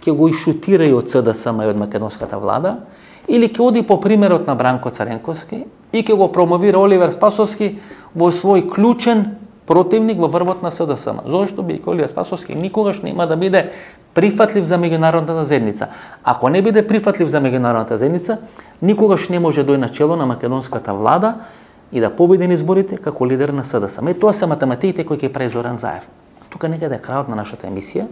ќе го ишутира и од СДСМ и од македонската влада, или ќе оди по примерот на Бранко Царенковски и ќе го промовира Оливер Спасовски во свој клучен противник во врвот на СДСМ. Зошто бидејќи Олије Спасовски никогаш нема да биде прифатлив за меѓународната заедница. Ако не биде прифатлив за меѓународната заедница, никогаш не може дојде на чело на македонската влада и да победи на изборите како лидер на СДСМ. Тоа се математиките кои ќе прави Зоран Заев. Тука некаде е крајот на нашата емисија.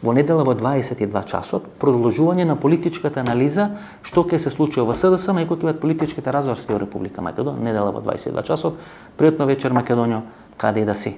Во недела во 22 часот, продолжување на политичката анализа што ќе се случи во СДСМ и кои ќе бидат политичките разврски во Република Македонија. Недела во 22 часот. Пријатно вечер, Македонијо, каде и да си.